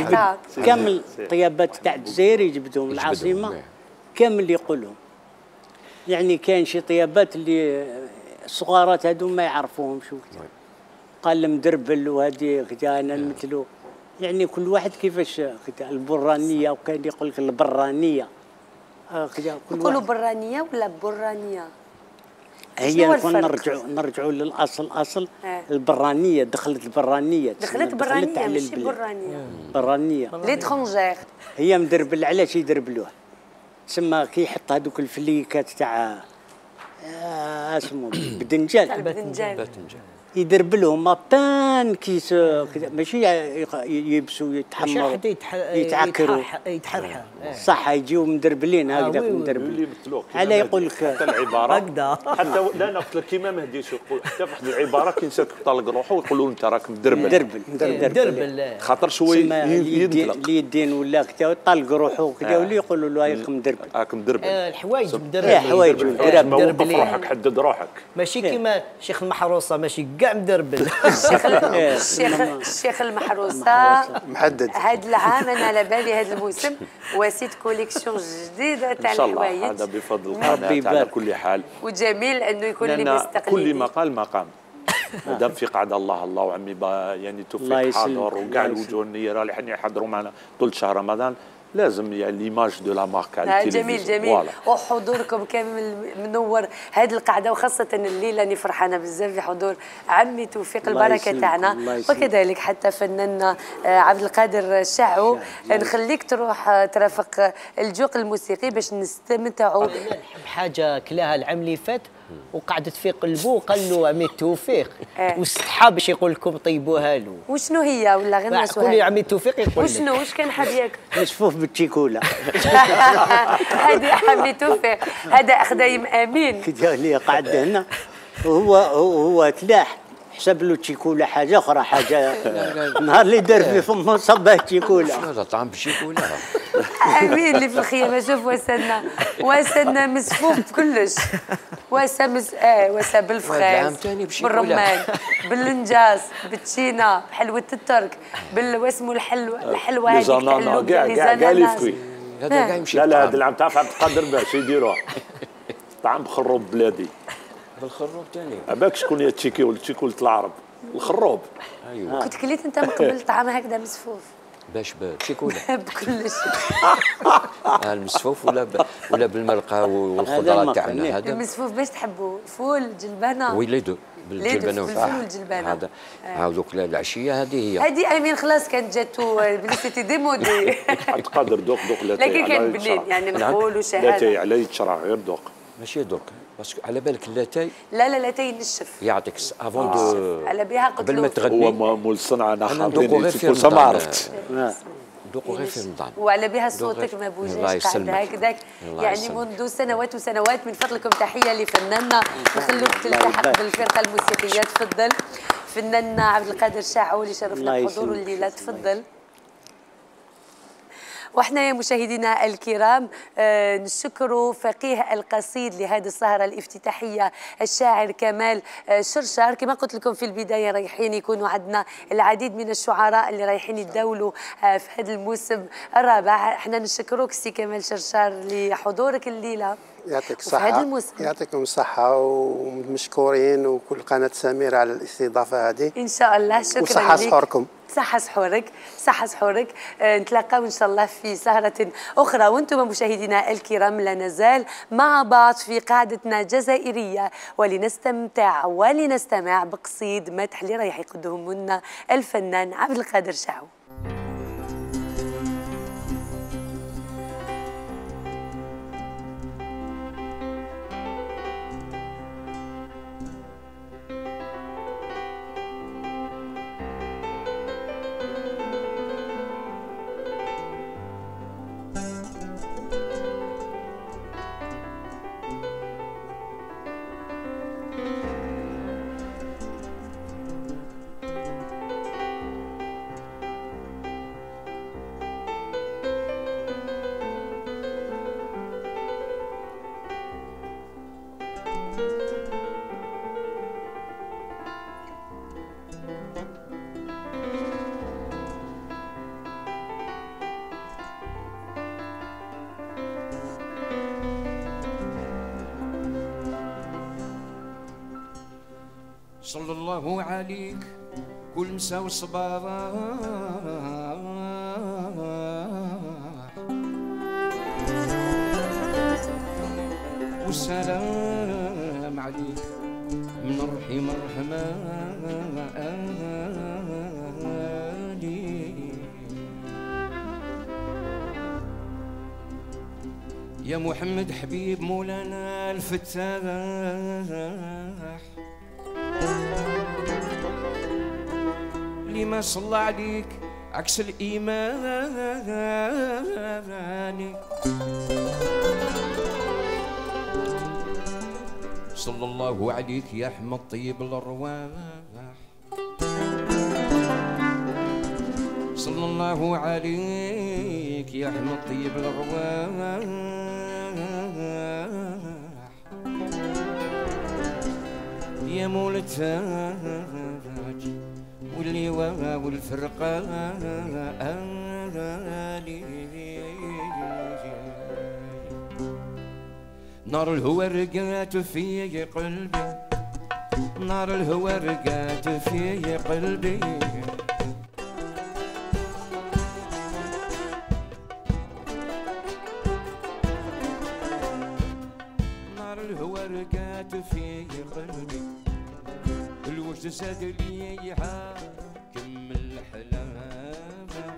كامل طيابات تاع الجزائر يجبدهم العاصمه كامل يقولهم. يعني كاين شي طيابات اللي الصغارات هذو ما يعرفوهمش وكذا. قال المدربل وهذه كذا انا نمثلو. يعني كل واحد كيفاش كذا. البرانيه وكان يقول لك البرانيه كذا.
يقولوا برانيه ولا برانيه؟
هي نرجعوا للاصل. البرانيه دخلت البرانيه
ماشي برانيه ليترونجير.
هي مدربل. علاش يدربلوه؟ تسمى كي يحط هذوك الفليكات تاع اسمه بدنجان يدربلهم بان كيس كذا. ماشي يبسوا يتحمروا يتعكروا
يتحرحوا
صح. يجيو مدربلين هكذا مدربلين. على يقول لك
حتى العباره حتى لا نقتل كيما مهدي يقول حتى في واحد العباره كي نساك طالق روحه ويقولوا انت راك مدربل خاطر شويه يدلق اليدين
ولا كذا طالق روحه كذا ولا يقولوا له
راك مدربل.
الحوايج
مدربل روحك حدد روحك.
ماشي كيما شيخ المحروسه ماشي كاع مدربل.
الشيخ المحروسه محدد. هذا العام انا على بالي هذا الموسم وسيت كوليكسيون جديده تاع الحوايج.
هذا بفضل القناه على كل حال.
وجميل انه يكون اللي مستقل.
كل مقام مادام في قعده الله وعمي يعني توفيق حاضر وكاع الوجوه النيره اللي يحضروا معنا طول شهر رمضان لازم يعني ليماج دو لا مارك على التلفزيون.
جميل وحضوركم كامل منور هذه القعده وخاصه الليله راني فرحانه بزاف بحضور عمي توفيق البركه تاعنا وكذلك حتى فناننا عبد القادر الشاعو. نخليك تروح ترافق الجوق الموسيقي باش نستمتعوا.
نحب حاجه كلاها العام اللي فات وقعدت في قلبه وقال له عمي توفيق واستحى باش يقول لكم طيبوها له.
وشنو هي ولا غير ناس
قولي عمي توفيق يقول
وشنو واش كان حاب ياكل؟
مسفوف بالتشيكولا.
هذه عمي توفيق هذا خدايم امين
كذا اللي قعد هنا وهو تلاح حسب له تشيكولا حاجه اخرى حاجه. نهار اللي دار في فمه صباه تشيكولا.
هذا طعم بالشيكولا.
امين اللي في الخيمه. شوف وسنا مسفوف بكلش. وسا بالفخاز بالرمان بالنجاس بالتشينا بحلوه الترك واسمه الحلوه هذيك
كاع لي فوي. هذا كاع يمشي. لا هذا العام تعرف عبد القادر باش يديروه طعم خروب بلادي.
بالخروب ثاني
عباك شكون هي التشيكول العرب الخروب.
ايوه كنت كليت انت من قبل طعام هكذا مسفوف
باش بالشيكولا
بكلش.
المسفوف ولا بالمرقه والخضره تاعنا. هذا
المسفوف باش تحبوا فول جلبانه
ويليدو بالجلبانه
والجلبانه.
هذا هذوك العشيه هذه
هذه امين خلاص كانت جاتو سيتي ديمودي.
تقدر دوق لاتاي.
لكن كان بنين يعني نقولوا شهاده
لاتاي على يتشرع غير دوق
ماشي دوق باسكو على بالك اللاتاي.
لا لاتاي ينشف
يعطيك افون دو
على بها
قبل ما تغني.
هو مول الصنعه انا
ندوقو غير في
ما عرفت
ذوقوا غير في رمضان.
وعلى بها صوتك ما بوجاش قاعد هكذاك يعني منذ سنوات وسنوات. من فضلكم تحيه لفناننا نخلوك تلتحق بالفرقه الموسيقيه. تفضل فناننا عبد القادر شاعو اللي شرفنا بحضوره الليله. تفضل. واحنا يا مشاهدينا الكرام نشكر فقيه القصيد لهذه السهرة الافتتاحية الشاعر كمال شرشار. كما قلت لكم في البداية رايحين يكونوا عندنا العديد من الشعراء اللي رايحين يتداولوا في هذا الموسم الرابع. احنا نشكرك سي كمال شرشار لحضورك الليلة.
يعطيك الصحة. يعطيكم الصحة ومشكورين وكل قناة سميرة على الاستضافة هذه.
إن شاء الله. شكرا لك.
وصحة سحوركم.
صحة سحورك. صحة سحورك. نتلاقاو إن شاء الله في سهرة أخرى. وأنتم مشاهدينا الكرام لا نزال مع بعض في قاعدتنا جزائرية ولنستمتع ولنستمع بقصيد مدح اللي رايح يقدمه لنا الفنان عبد القادر شاعو.
صلى الله عليك كل مسا وصباح والسلام عليك من الرحيم الرحمن يا محمد حبيب مولانا الفتاح لما صلى عليك عكس الإيمان صلى الله عليك يا أحمد طيب الأرواح صلى الله عليك يا أحمد طيب الأرواح يا مولتاج واللواء والفرقة نار الهوى رقات في قلبي نار الهوى رقات في قلبي نار الهوى رقات في قلبي الوجد زاد لي حاكم الحلامة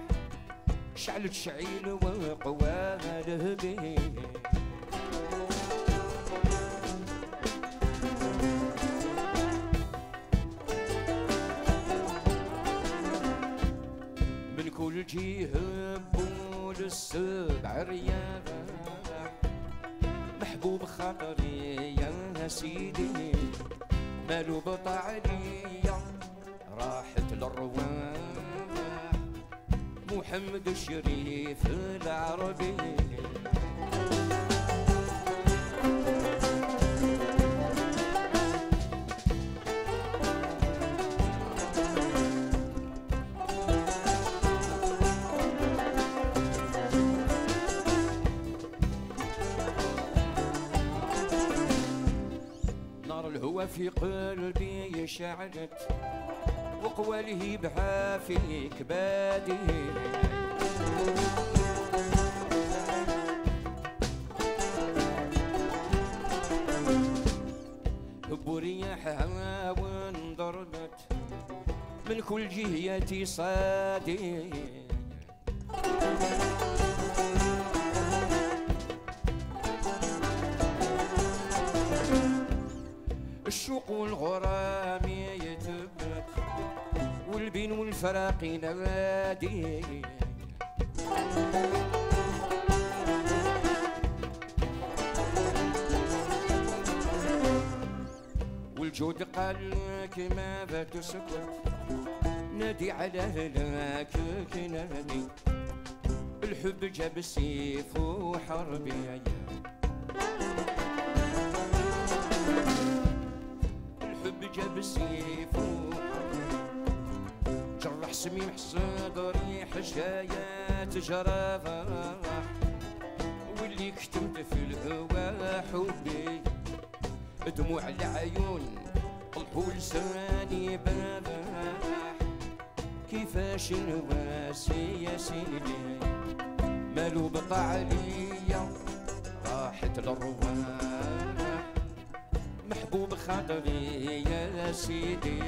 شعلت شعيل وقواله به من كل جهة بول السبع رياح محبوب خاطري يا سيدي مالو بطعلية راحت للرواح محمد الشريف العربي نار الهوى في قلبي شعلت وقواله بها في كبادي برياحها وانضربت من كل جهة صادي الشوق والغرام يتبت والبين والفراق نادي والجود قال كما تسكت نادي على هلاك كناني الحب جاب السيف وحربي الحب جاب السيف وحربي جرح سميم صدري حشايات جرافة واللي كتمت في الهوا حبي دموع العيون طلعوا لساني بنباح كيفاش نواسي يا سيدي مالو بقى عليا راحت الارواح محبوب خاطري يا سيدي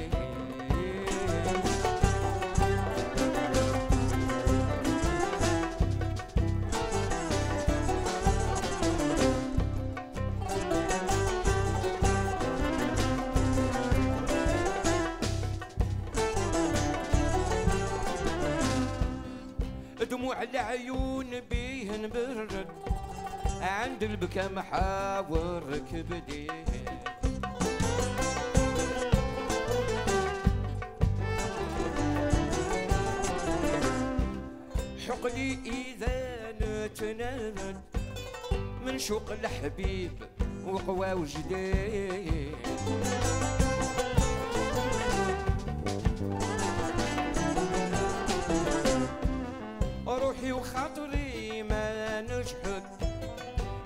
دموع العيون بيه نبرد عند البكا محاور كبدي حقلي إذا نتناد من شوق الحبيب وقوى وجدي روحي وخاطري ما نجحد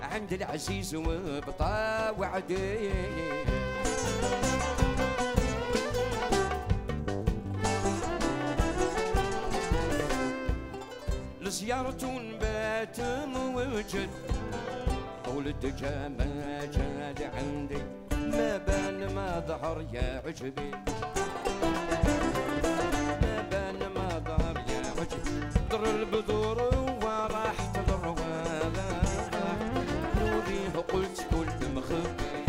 عند العزيز وبطا وعدي لزيارة بات موجد طول الدجا ما جاد عندي ما بان ما ظهر يا عجبي ما بان ما ظهر يا عجبي در البذور وراحت الرواح نوريه قلت كل مخبي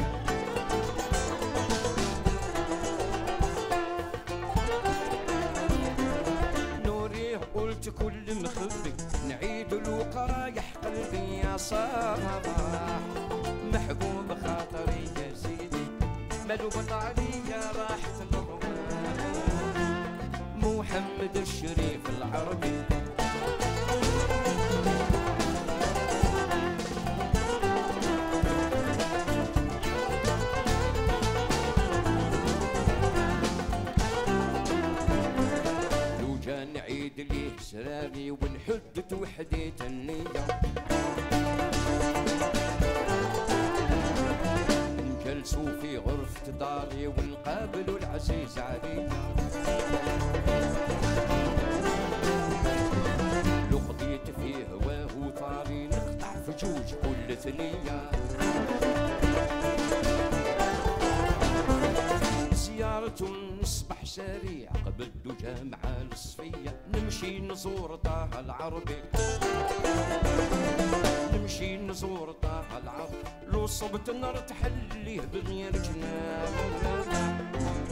نوريه قلت كل مخبي نعيد الوقرايح قلبي يا صباح محبوب خاطري يا سيدي مالو بطالي راحت الرواح محمد الشريف العربي لو جا نعيد ليه سراري ونحدد وحديت النية نجلسوا في غرفة داري ونقابلوا العزيز علي لو قضيت فيه هواه وطاري نقطع في جوج كل ثنية زيارة نصبح سريع قبل الدجا مع الصفية نمشي نزور طه العربي نمشي نزور طه العربي لو صبت نرتحل ليه بغير جناب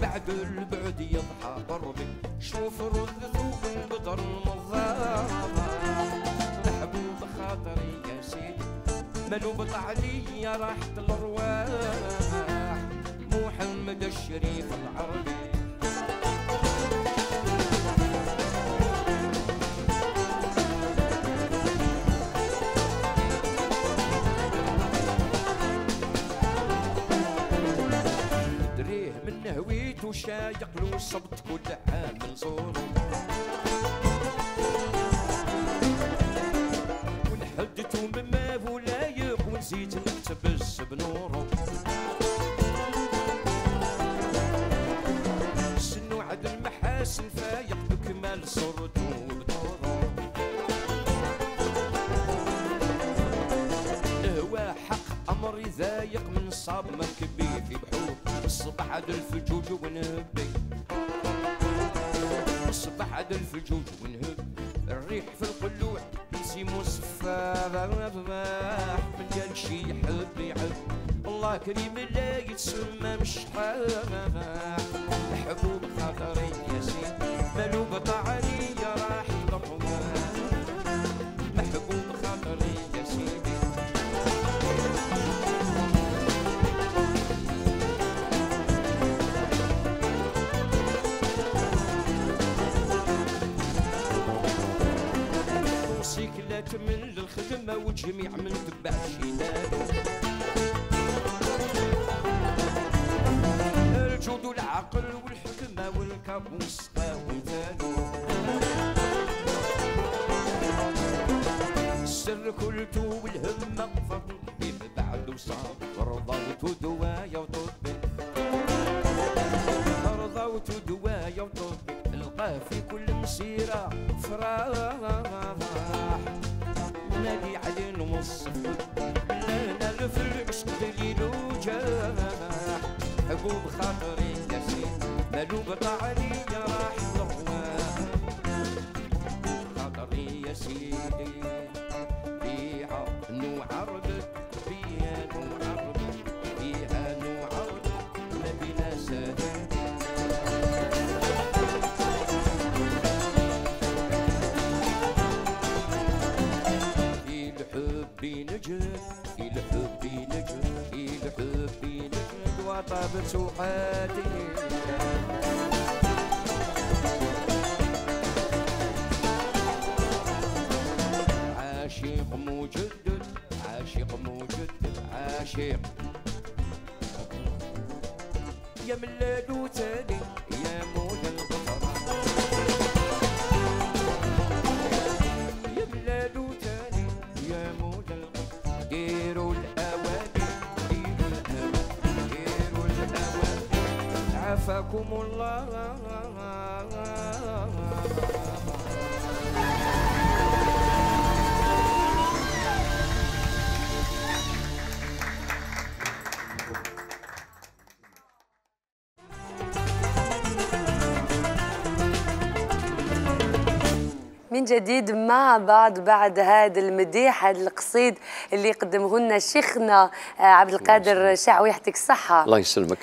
بعد البعد يضحى قربي شوف رد ثوب البدر المضاضة محبوب خاطري يا سيدي مالو بطعلي راحت الارواح محمد الشريف العربي دريه من هويت وشايق له صبت كل عام نزوره ونحدته مما ولايق ونزيد نقتبس بنوره سنو عد المحاسن فايق بكمال صورته وبدوره الهوا حق امر يضايق من صاب مركبي في بحور الصبح عد الفجوج ونهبي الصبح عد الفجوج ونهب الريح في القلوع يسيمو صفار من قال شي يحب يحب الله كريم لا يتسمى مش محبوب خاطري يا سيدي مالو بطعلي راح الرواح تمل الخدمة والجميع من تبع الشيلان. الجود والعقل والحكمة والكابوس ومثالو السر كلتو والهمة فضل بيب بعد وصاب رضوت دوايا وطبي رضوت دوايا وطبي القاه في كل مسيرة فراح نادي علي نوصف لا نلف العشق دليل وجاح حبوب خاطري يا سيدي مالو بطعني يا راح الرواح خاطري يا سيدي فيها نعرضك فيها نعرضك فيها نعرضك ما بينا سهل في الحب نجد في الحب نجد في الحب نجد وطابت سوحاتي عاشق مجدد عاشق مجدد عاشق يا ملال وتاني يا مولا البطرة يا ملال وتاني يا مولا البطرة ديروا الأواني ديروا الأواني ديروا الأواني عافاكم الله.
من جديد مع بعد هذا المديح، هذا القصيد اللي قدمه لنا شيخنا عبد القادر شعوي، يعطيك الصحة.
الله يسلمك.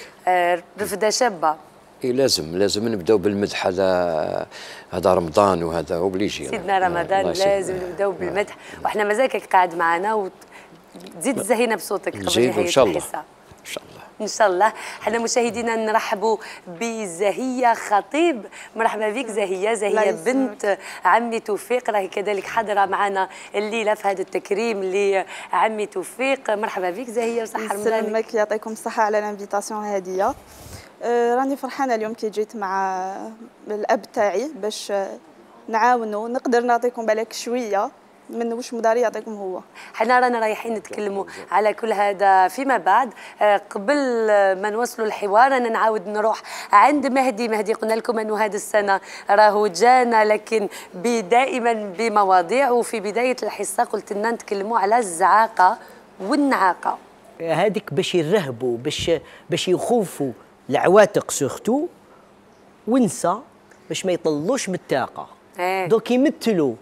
رفدة شابة.
إيه لازم نبداو بالمدح، هذا رمضان وهذا اوبليجي.
سيدنا رمضان لازم نبداو بالمدح، وإحنا مازالك قاعد معنا وتزيد تزهينا بصوتك قبل نهاية
إن شاء الله.
الحصة.
إن شاء الله.
إن شاء الله. حنا مشاهدينا نرحبوا بزهية خطيب. مرحبا بك زهية بنت عمي توفيق، راهي كذلك حاضرة معنا الليلة في هذا التكريم لعمي توفيق. مرحبا بك زهية وصحة رمضانك.
يسلمك يعطيكم الصحة على الانفيتاسيون هذه. راني فرحانة اليوم كي جيت مع الأب تاعي باش نعاونوا، نقدر نعطيكم بالك شوية من واش مداري يعطيكم هو.
حنا رانا رايحين نتكلموا على كل هذا فيما بعد. قبل ما نوصلوا الحوار انا نعاود نروح عند مهدي قلنا لكم انه هذه السنه راهو جانا، لكن دائما بمواضيع، وفي بدايه الحصه قلت لنا نتكلموا على الزعاقه والنعاقه.
هذيك باش يرهبوا باش يخوفوا العواتق سورتو ونسى باش ما يطلوش من الطاقه. دوك يمثلوا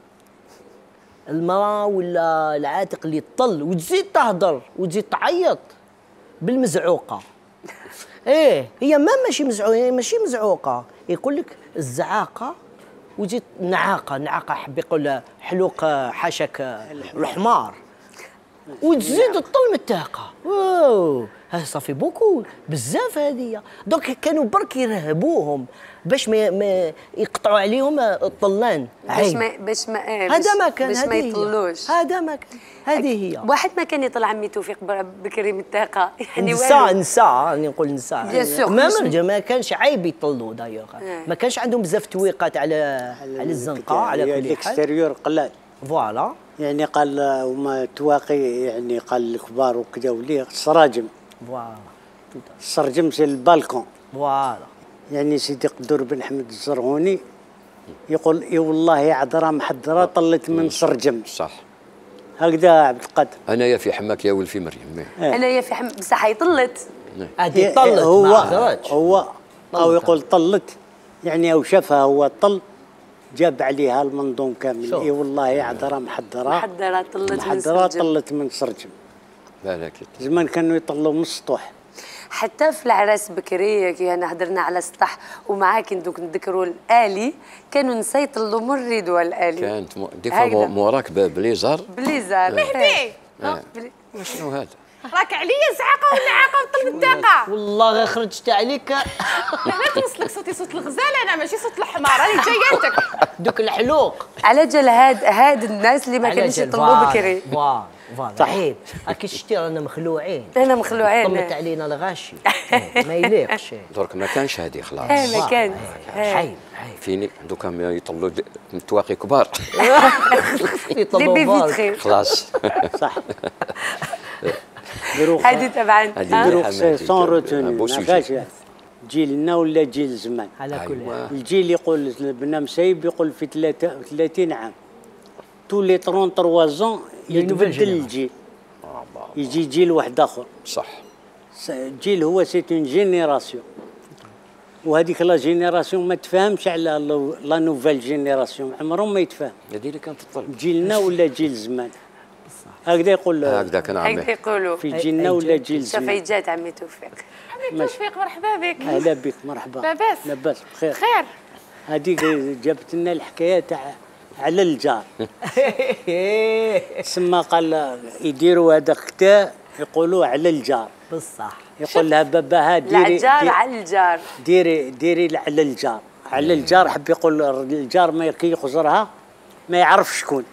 المرأة ولا العاتق اللي تطل وتزيد تهضر وتزيد تعيط بالمزعوقة. هي ماشي مزعوقة، يقول لك الزعاقة وتزيد نعاقة حب يقول حلوق حاشاك الحمار وتزيد تطل من الطاقة. هذا صافي بوكو بزاف هذه. دوك كانوا برك يرهبوهم باش ما يقطعوا عليهم الطلان،
باش ما
يطلوش.
هذا ما كان، هذه هي.
واحد ما كان يطلع عمي توفيق بكري من الطاقه يعني
نساء راني نقول نساء ما كانش عيب يطلوا دايوغ. ما كانش عندهم بزاف تويقات على الزنقه على كل حال.
الاكستيريور قلال
فوالا.
يعني قال وما تواقي، يعني قال الكبار وكذا وليه السراجم.
فوالا.
السرجم سي البالكون.
فوالا.
يعني سيدي قدور بن حمد الزرغوني يقول اي والله يا عذرا محضره طلت من سرجم.
صح.
هكذا عبد القادر.
انايا في حماك يا ولفي مريم.
انايا في حماك بصح هي طلت.
هذه طلت
هو او يقول طلت، يعني او شافها هو طل جاب عليها المنظوم كامل. اي والله يا عذرا محضره طلت من سرجم.
بالك
زمان كانوا يطلوا من السطوح.
حتى في العراس بكري كي انا هضرنا على السطح ومعاك دوك نذكروا الالي، كانوا نسا يطلوا من الريدوه الالي.
كانت دي فوا موراك بليزر
مهدي
شنو هذا؟
راك عليا زعاقه والنعاقه وطلب الداقه.
والله غير خرجت عليك.
لا توصلك صوتي صوت الغزال انا ماشي صوت الحمار راني جاياتك.
دوك الحلوق.
على جال هاد الناس اللي ما كانوش يطلبوا بكري.
فوالا عيب. راكي شتي رانا مخلوعين.
انا مخلوعين.
طمت علينا الغاشي. ما يليقش.
درك ما كانش هذه خلاص.
ما كانش.
عيب.
فيني دوكا يطلوا متواقي كبار.
يطلبوا
خلاص.
صح.
هذه طبعا
دروك سون روتوني ما كاش جيلنا ولا جيل زمان.
على كل حال.
الجيل يقول بنا مسيب يقول في 30 عام تولي 33 زون يتبدل الجيل. يجي جيل واحد اخر.
صح.
الجيل هو سي اون جينيراسيون، وهذيك لا جينيراسيون ما تفهمش على لا نوفيل جينيراسيون، عمرهم ما يتفاهم.
هذه اللي كانت تطلب
جيلنا ولا جيل زمان. هكذا يقول
هكذا كان عمي.
هكذا يقولوا
في جيلنا ولا جيل زمان.
شوفي جات عمي توفيق.
عمي توفيق مرحبا بك.
اهلا بك مرحبا.
لاباس؟
لاباس بخير.
خير.
هذيك جابت لنا الحكايه تاع على الجار. سما قال يديروا هذا كتاب يقولوا على الجار.
بصح.
يقول لها باباها ديري
الجار على الجار.
ديري على الجار. على الجار حب يقول الجار ما كي يخزرها ما يعرف شكون.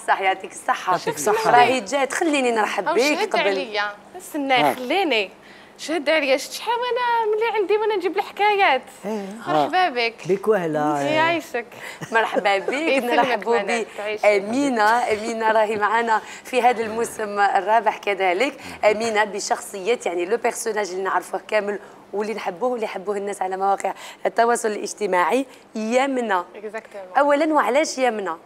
صح يعطيك الصحة. راهي جات خليني نرحب بك
شهد عليا استنى خليني شهد عليا شحال وانا ملي عندي وانا نجيب الحكايات. مرحبا بك.
بك وهلا.
يعيشك.
مرحبا بك. نرحبوا بأمينة راهي معنا في هذا الموسم الرابع كذلك. أمينة بشخصية يعني لو بيرسوناج اللي نعرفوه كامل واللي نحبوه واللي يحبوه الناس على مواقع التواصل الاجتماعي. يمنة اولا وعلاش يمنة؟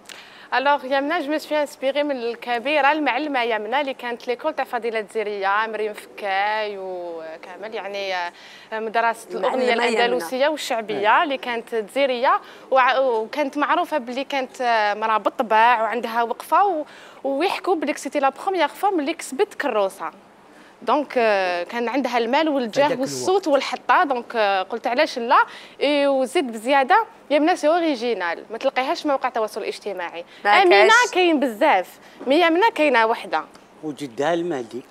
الوغ يمنة جو مسوي انسبيري من الكبيره المعلمه يمنة اللي كانت ليكول تاع فضيله الزيريه مريم فكاي وكامل يعني مدرسه الاغنيه الاندلسيه والشعبيه اللي كانت تزيريه وكانت معروفه باللي كانت مراه بالطباع وعندها وقفه ويحكوا بلي سيتي لا بروميير فوا ملي كسبت كروسه. دونك كان عندها المال والجاه والصوت والحطه. دونك قلت علاش لا. وزيد بزياده يمنة سي اوريجينال ما تلقيهاش مواقع التواصل الاجتماعي. امينه كاين بزاف مي يمنة كاينه وحده.
وجدها المهدي.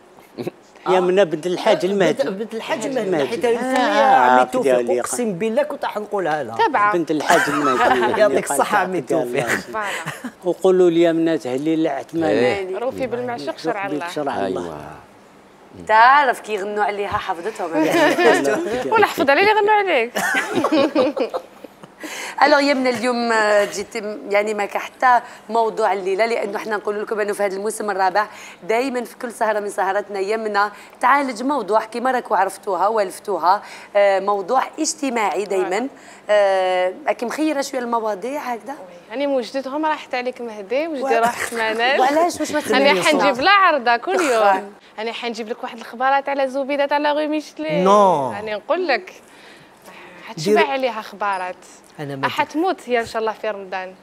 يمنة بنت الحاج المهدي.
بنت الحاج المهدي حيت عمي توفيق اقسم بالله كنت راح نقولها لها.
تبعه
بنت الحاج المهدي.
يعطيك الصحه عمي توفيق.
وقولوا لي يمنة تهليل العثماني.
روفي بالمعشوق شرع الله.
تعرف كي يغنوا عليها حفظتهم.
ولا حفظ علي اللي يغنوا عليك.
الوغ يمنى اليوم جيت يعني ما حتى موضوع الليله لانه احنا نقول لكم انه في هذا الموسم الرابع دائما في كل سهره من سهراتنا يمنى تعالج موضوع كما راكم عرفتوها والفتوها موضوع اجتماعي دائما. راكي مخيره شويه المواضيع هكذا؟
يعني وجدتهم راحت عليك مهدي وجدي راحت منال.
وعلاش واش ما تخلينيش؟
انا حنجيب لها عرضه كل يوم. انا حنجيب لك واحد الخبارات على زبيده تاع لا غي ميشلي.
نو
انا نقول لك حتشبع عليها خبارات. حتموت هي ان شاء الله في رمضان.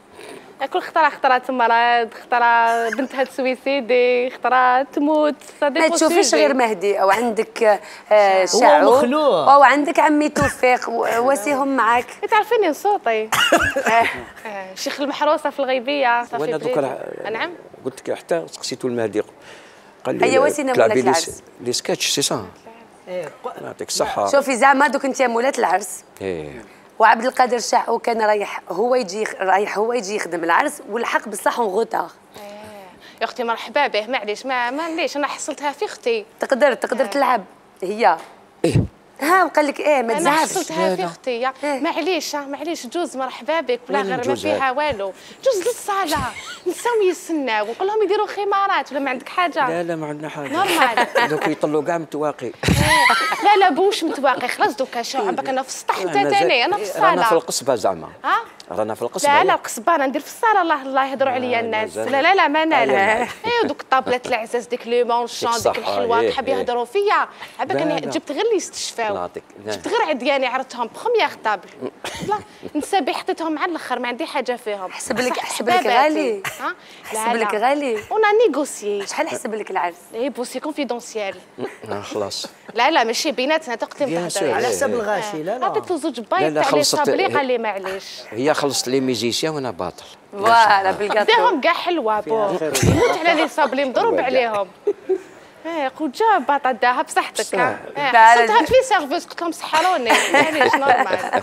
كل خطره تمرض خطره بنتها تسويسيدي خطره تموت.
ما تشوفيش غير مهدي او عندك شعو او عندك عمي توفيق واسيهم معاك.
تعرفيني صوتي شيخ المحروسه في الغيبيه صافي.
وانا دوكا
نعم
قلت لك حتى سقسيتو المهدي قال لي
هيا واسينا مولات العرس
لي سكتش سي سا. يعطيك الصحه.
شوفي زعما دوك انت مولات العرس. وعبد القادر شاعو كان رايح هو يجي يخدم العرس والحق بصح غوتار.
يا اختي مرحبا به معليش ما ليش انا حصلتها في اختي.
تقدر تلعب هي. ها وقال لك ما تزعفش.
انا حصلتها في اختي معليش جوز مرحبا بك ولا غير ما فيها والو. جوز للصاله نساو يستناو ونقول لهم يديروا خمارات ولا ما عندك حاجه؟
لا ما عندنا حاجه
نورمال.
دوك يطلوا كاع متواقي.
لا بوش متواقي خلاص دوكا شعبك انا في السطح انت ثاني انا في الصاله.
رانا في القصبه زعما. رانا في القصبه.
لا القصبه انا ندير في الصاله الله يهضروا عليا الناس. لا ما نالها. دوك الطابلات العزاز ديك لي مونشون ديك الحلوه تحب يهضروا فيا عباك انا جبت غير اللي يستشفاو. جبت غير عدياني عرضتهم بخومييغ طابل. لا نسابي حطيتهم على الاخر ما عندي حاجه فيهم.
حسب لك غالي. حسب لك غالي.
ونا نيغوسيي.
شحال حسب لك العرس؟
بوسي كونفيدونسيال.
خلاص.
لا ماشي بيناتنا تقدري تهضري
على حساب الغاشي. لا
عطيت له زوج بايط تاع لي صابلي قال لي معليش.
هي خلصت لي ميزيسيان وانا باطل.
فوالا بالكاطو.
ديهم كاع حلوه بو. يموت على لي صابلي مضروب عليهم. قلت جاب باطا داها بصحتك. حسيتها في سيرفيس قلت لهم سحروني معليش نورمال.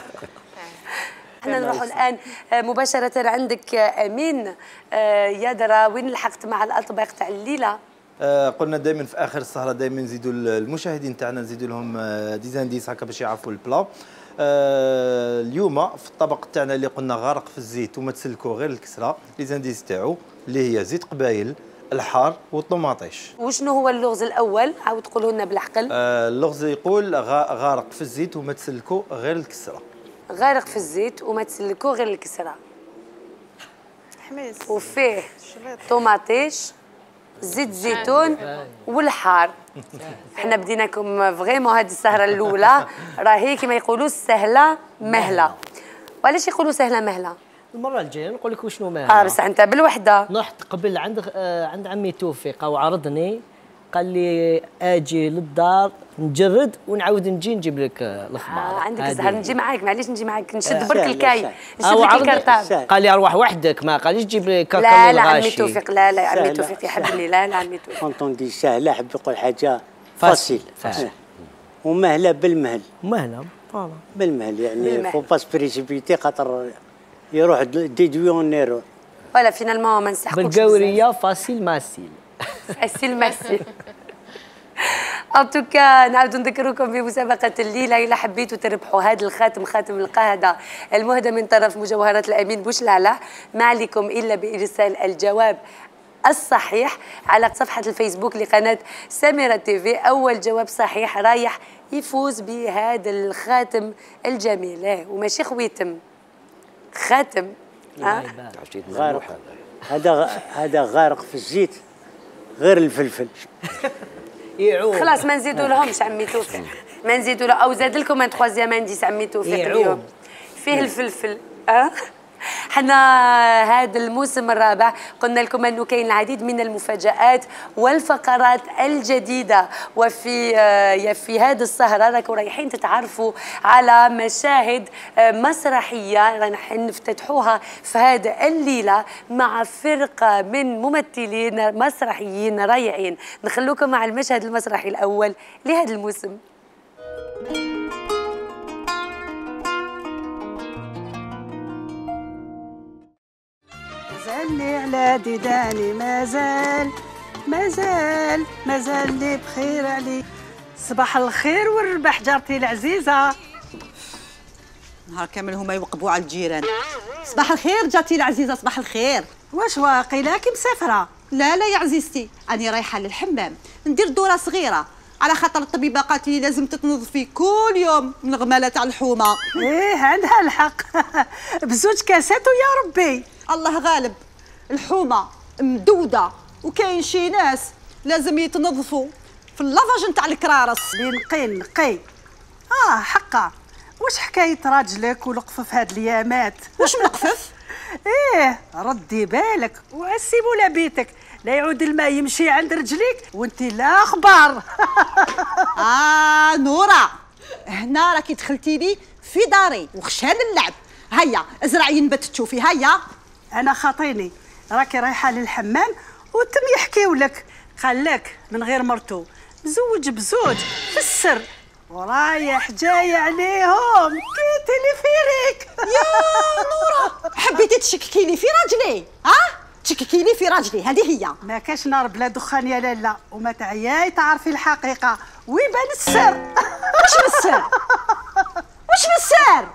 احنا نروحوا الان مباشره عندك امين. يا درا وين لحقت مع الاطباق تاع الليله؟
قلنا دائما في اخر السهره دائما نزيدوا المشاهدين تاعنا نزيدوا لهم ديزانديس هكا باش يعرفوا البلا. اليوم في الطبق تاعنا اللي قلنا غارق في الزيت وما تسلكوا غير الكسره، ليزانديس تاعو اللي هي زيت قبايل، الحار والطوماطيش.
وشنو هو اللغز الاول؟ عاود تقولوا لنا بالعقل.
اللغز يقول غارق في الزيت وما تسلكوا غير الكسره.
غارق في الزيت وما تسلكوا غير الكسره.
حميس.
وفيه طوماطيش، زيت زيتون والحار. احنا بديناكم فريمون هذه السهره الاولى راهي كما يقولوا سهله مهله. وعلاش يقولوا سهله مهله؟
المره الجايه نقول لك وشنو مهله.
بصح انت بالوحده.
رحت قبل عند عمي توفيق وعرضني، قال لي اجي للدار نجرد ونعاود نجي نجيب لك الخمار.
عندك الزهر نجي معاك، معليش نجي معاك نشد برك الكاي نشد لك الكرطاب.
قال لي اروح وحدك، ما قاليش جيب لي كرطاب
لا لا عمي توفيق، لا لا عمي توفيق يحبني. لا لا عمي توفيق
كونتوندي سهله حب يقول حاجه فاسيل ومهله بالمهل.
مهله فوالا
بالمهل يعني فو باس بريسيبيتي خاطر يروح ديدويون نيرو.
ولا فينالمون ما نسحقوش
بالقوريه فاسيل ماسيل.
فاسيل ماسيل. ان توكا نعاودوا نذكركم بمسابقه الليله. الا حبيتوا تربحوا هذا الخاتم، خاتم القاهده المهدى من طرف مجوهرات الامين بوشلالة، ما عليكم الا بارسال الجواب الصحيح على صفحه الفيسبوك لقناه سميرة تيفي. اول جواب صحيح رايح يفوز بهذا الخاتم الجميل. وماشي خويتم، خاتم.
غارق. هذا غارق في الزيت غير الفلفل.
خلاص ما نزيدوا لهمش عمي توفيق، ما نزيدوا له. او زاد لكم ان تخوازيام انديس عمي توفيق اليوم فيه الفلفل. حنا هذا الموسم الرابع قلنا لكم انه كاين العديد من المفاجآت والفقرات الجديده، وفي هذه السهره راكم رايحين تتعرفوا على مشاهد مسرحيه راح نفتتحوها في هذا الليله مع فرقه من ممثلين مسرحيين رائعين. نخلوكم مع المشهد المسرحي الاول لهذا الموسم.
مازال على ديداني، مازال لي بخير علي. صباح الخير والربح جارتي العزيزة.
نهار كامل هما يوقبوا على الجيران. صباح الخير جارتي العزيزة، صباح الخير.
واش واقيلاكي مسافرة؟
لا يا عزيزتي، أنا رايحة للحمام ندير دورة صغيرة، على خاطر الطبيبة قالت لي لازم تتنظفي كل يوم من الغمالة تاع الحومة.
إيه عندها الحق. بزوج كاسات ويا ربي.
الله غالب، الحومه مدوده وكاين شي ناس لازم يتنظفوا في اللافاج نتاع الكرارس.
نقي. حقا. واش حكايه راجلك ولقفف هاد الايامات؟
واش ملقفف؟
ايه ردي بالك وعسيبوا لبيتك لا يعود الماء يمشي عند رجليك وانت لا اخبار.
نورا، هنا راكي دخلتي لي في داري وخشان اللعب. هيا ازرعي نبت تشوفي. هيا
انا خاطيني راكي رايحه للحمام وتم يحكيوا لك، قال لك من غير مرتو مزوج بزوج في السر ورايح جاي عليهم كيتي لي فيريك.
يا نورا حبيتي تشككي لي في راجلي؟ تشككي لي في راجلي، هذه هي.
ما كاش نار بلا دخان يا لالا، وما تعياي تعرفي الحقيقه ويبان السر.
واش من السر؟ واش من السر؟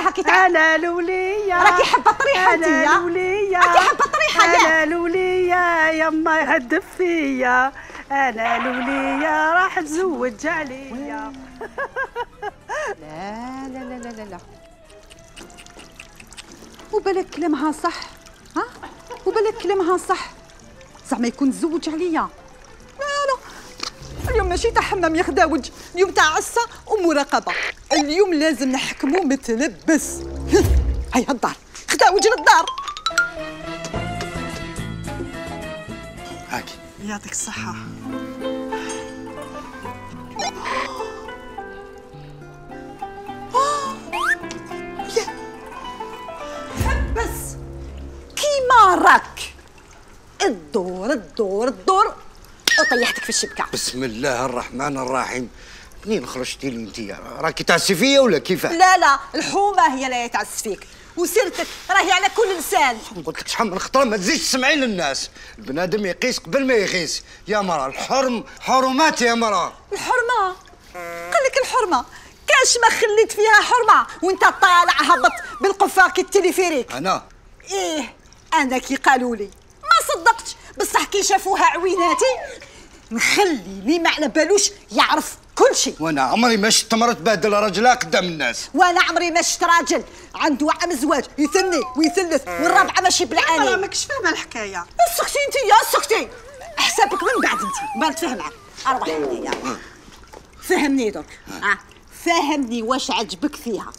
هاكي
انا الوليه
راكي حابه طريحه انت.
انا الوليه
راكي حابه طريحه.
انا الوليه يما يهدف فيا، انا الوليه راح تزوج عليا.
لا لا لا لا لا، وبالك كلامها صح. وبالك كلامها صح، زعما يكون تزوج عليا. لا اليوم ماشي تاع حمام يا خداوج، اليوم تاع عصا ومراقبه. اليوم لازم نحكمو متلبس. هيا الدار خداوج للدار.
هاكي يعطيك الصحه.
بس كيما راك الدور طيحتك في الشبكه.
بسم الله الرحمن الرحيم. منين خرجتي لي انت؟ راكي تعسي فيا ولا كيفاه؟
لا الحومه هي اللي تعس فيك، وسيرتك راهي على كل لسان.
قلت لك شحال من خطره ما تزيدش تسمعي للناس، البنادم يقيس قبل ما يقيس. يا مرا الحرم حرمات يا مرا.
الحرمه؟ قال لك الحرمه كاش ما خليت فيها حرمه وانت طالع هبط بالقفا كالتليفيريك.
انا
ايه انا كي قالوا لي ما صدقتش، بصح كي شافوها عويناتي نخلي اللي ما على بالوش يعرف كل شيء.
وانا عمري ما شفت مرة تبهدل راجلها قدام الناس.
وانا عمري ما شفت راجل عنده عام زواج يثني ويثلث والرابعه ماشي بالعاني.
انا ماكش فاهمه الحكايه.
اسكتي انت يا سكتي، حسابك من بعد انت ما نتفاهم معاك. اروح انت فهمني درك. فهمني واش عجبك فيها.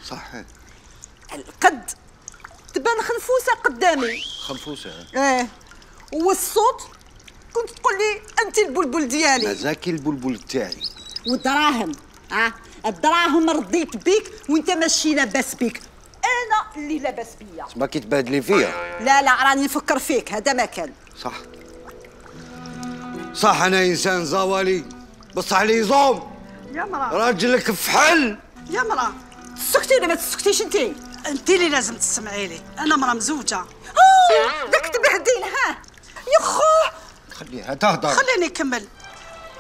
صحيح
القد تبان خنفوسه قدامي.
خنفوسه؟
ايه والصوت كنت تقول لي انت البلبل ديالي.
مزاكي البلبل تاعي.
والدراهم الدراهم رضيت بيك وانت ماشي لاباس بيك، انا اللي لاباس بيا.
ما كي تبادلي فيا؟
لا راني نفكر فيك، هذا ما كان.
صح انا انسان زوالي بصح لي زوم.
يا مرا
راجلك فحل.
يا مرا
تسكتي ولا ما تسكتيش انت؟
انت اللي لازم تسمعي لي، انا مرا مزوجه.
داك تبهدين يا خو.
خليها تهضر.
خليني نكمل.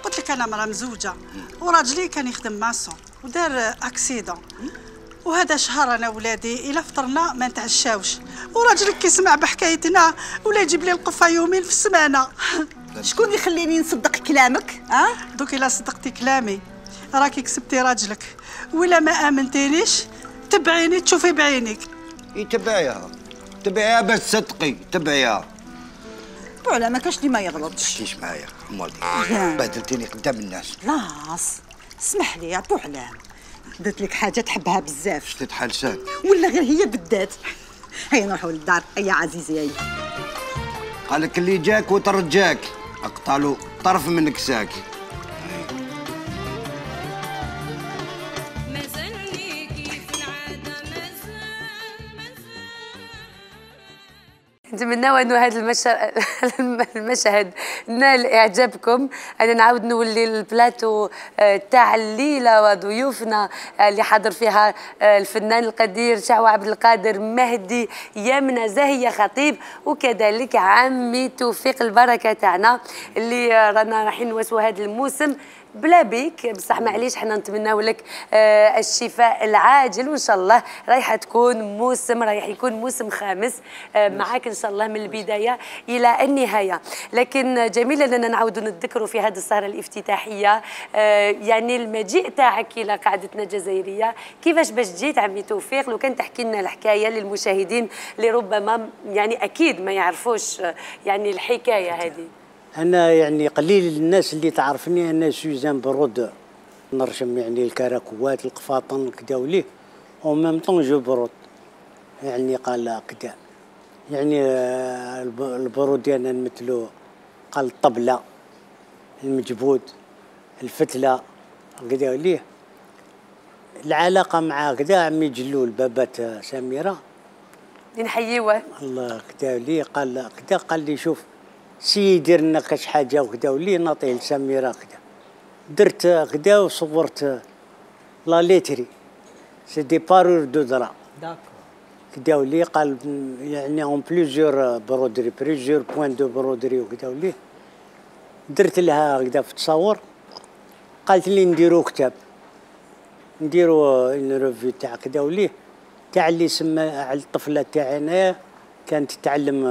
قلت لك انا مرا مزوجه وراجلي كان يخدم ماسون ودار اكسيدون، وهذا شهر انا ولادي الا فطرنا ما نتعشاوش، وراجلك كيسمع بحكايتنا ولا يجيب لي القفه يومين في السمانه.
شكون يخليني نصدق كلامك؟
دوك الا صدقتي كلامي راكي كسبتي راجلك، ولا ما امنتينيش تبعيني تشوفي بعينيك.
تبعيها باش تصدقي. تبعيها
ولا ما كاش اللي ما يغلطش.
تحكيش معايا امالي بهدلتيني قدام الناس.
لاص اسمح لي يا بوعلام، درت لك حاجه تحبها بزاف.
شتت حلسان
ولا غير هي بالذات. هيا نروحوا للدار يا عزيزي. هيا
قالك اللي جاك وترجاك اقطعلو طرف من كساك.
نتمنى انه هذا المشهد نال اعجابكم. انا نعاود نولي البلاتو تاع الليله وضيوفنا اللي حضر فيها الفنان القدير شعوة عبد القادر مهدي، يمنى زاهيه خطيب، وكذلك عمي توفيق البركه تاعنا اللي رانا رايحين نواسوا هذا الموسم بلا بيك. بصح معليش حنا نتمناو لك الشفاء العاجل، وان شاء الله رايح يكون موسم خامس معاك ان شاء الله من البدايه الى النهايه. لكن جميل اننا نعاودوا نتذكروا في هذه السهره الافتتاحيه يعني المجيء تاعك الى قاعدتنا الجزائريه. كيفاش باش جيت عمي توفيق؟ لو كان تحكي لنا الحكايه للمشاهدين اللي ربما يعني اكيد ما يعرفوش يعني الحكايه هذه.
أنا يعني قليل الناس اللي تعرفني. أنا سوزان برود، نرسم يعني الكراكوات القفاطن كدا وليه، وميم طون جو برود يعني قال كدا يعني البرود أنا نمثلو قال الطبلة، المجبود، الفتلة كدا وليه. العلاقة مع كدا عمي جلول بابات سميرة
اللي نحييوه
الله كدا وليه، قال كدا قال لي شوف سي يدير لنا كاش حاجه وكذا ولي نعطيه لسميره كذا. درت كذا وصورت لا ليتري سي دي بارور دو درا كذا ولي. قال يعني اون بليزيور برودري بليزيور بوين دو برودري وكذا ولي. درت لها كذا في التصاور، قالت لي نديرو كتاب، نديرو اون ريفيو تاع كذا ولي تاع اللي سمى على الطفله تاعي انايا كانت تتعلم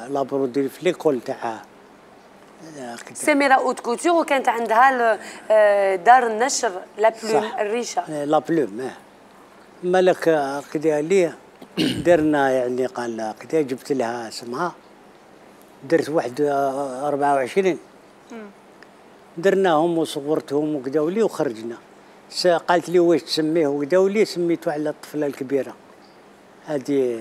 لابرودري في ليكول تاعها
سميرة اوت كوتور، وكانت عندها دار النشر لا بلوم الريشه.
لا بلوم مالك كذا ليه درنا يعني قال كذا جبت لها اسمها، درت واحد 24 درناهم وصورتهم وكذا ولي وخرجنا. قالت لي واش تسميه وكذا ولي، سميته على الطفله الكبيره هذه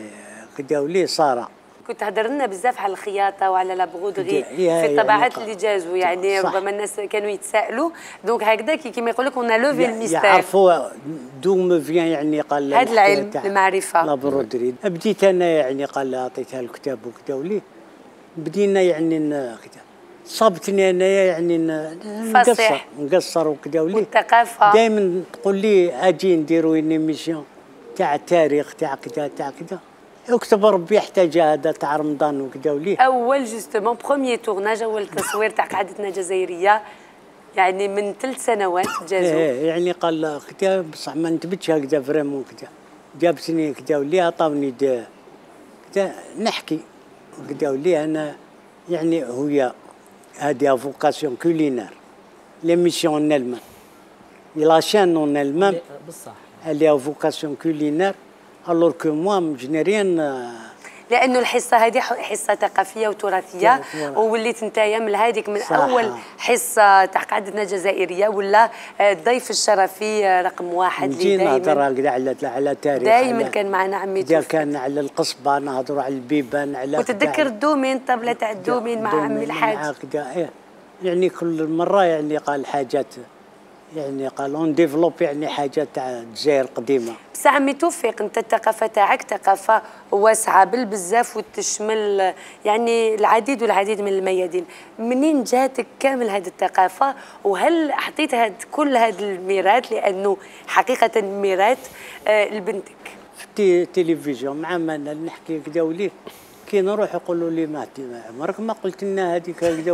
كدا ولي ساره.
كنت تهضر لنا بزاف على الخياطه وعلى لابغودغي في الطبعات اللي جازوا، يعني ربما الناس كانوا يتسائلوا دونك هكذا كيما يقول لك اون لوفي الميستير.
يعرفوا دو مو فيان يعني قال
هذا العلم المعرفه
لابرودري. بديت انا يعني قال عطيتها الكتاب وكدا ولي بدينا يعني كذا صابتني انايا يعني نقصر وكذا
والثقافه
دائما تقول لي اجي نديروا ميسيون تاع التاريخ تاع كذا تاع كذا، اكتب ربي يحتاج هذا تاع رمضان وكذا وليه.
اول جوستومون بروميي تورناج، اول تصوير تاع قعدتنا جزائريه يعني من 3 سنوات جازوا.
يعني قال كذا بصح ما نتبتش هكذا فريمون كذا، جابتني كذا وليه عطاوني كذا نحكي كذا وليه. انا يعني هي هذه فوكاسيون كولينار ليميسيون ان المام لا شان ان المام
بصح
elle est à vocation culinaire alors que moi je n'ai rien.
لانه الحصه هذه حصه ثقافيه وتراثيه، ووليت نتايا من هذيك من اول حصه تاع قعدتنا جزائريه ولا الضيف الشرفي رقم 1 اللي
دائما نهضر هكذا على تاريخ،
دائما كان معنا عمي توفيق،
كان على القصبه نهضروا على البيبان على
وتتذكر الدومين الطبله تاع الدومين مع عمي الحاج
هكذا. يعني كل مره يعني قال حاجات، يعني قال اون ديفلوب يعني حاجات تاع الجزائر القديمه.
بس عمي توفيق انت الثقافه تاعك ثقافه واسعه بالبزاف وتشمل يعني العديد والعديد من الميادين. منين جاتك كامل هذه الثقافه، وهل حطيت كل هذا الميراث لانه حقيقه ميراث لبنتك؟
في التلفزيون مع منال نحكي كذا وليه كي نروح يقولوا لي ما عمرك ما قلت لنا هذيك هكذا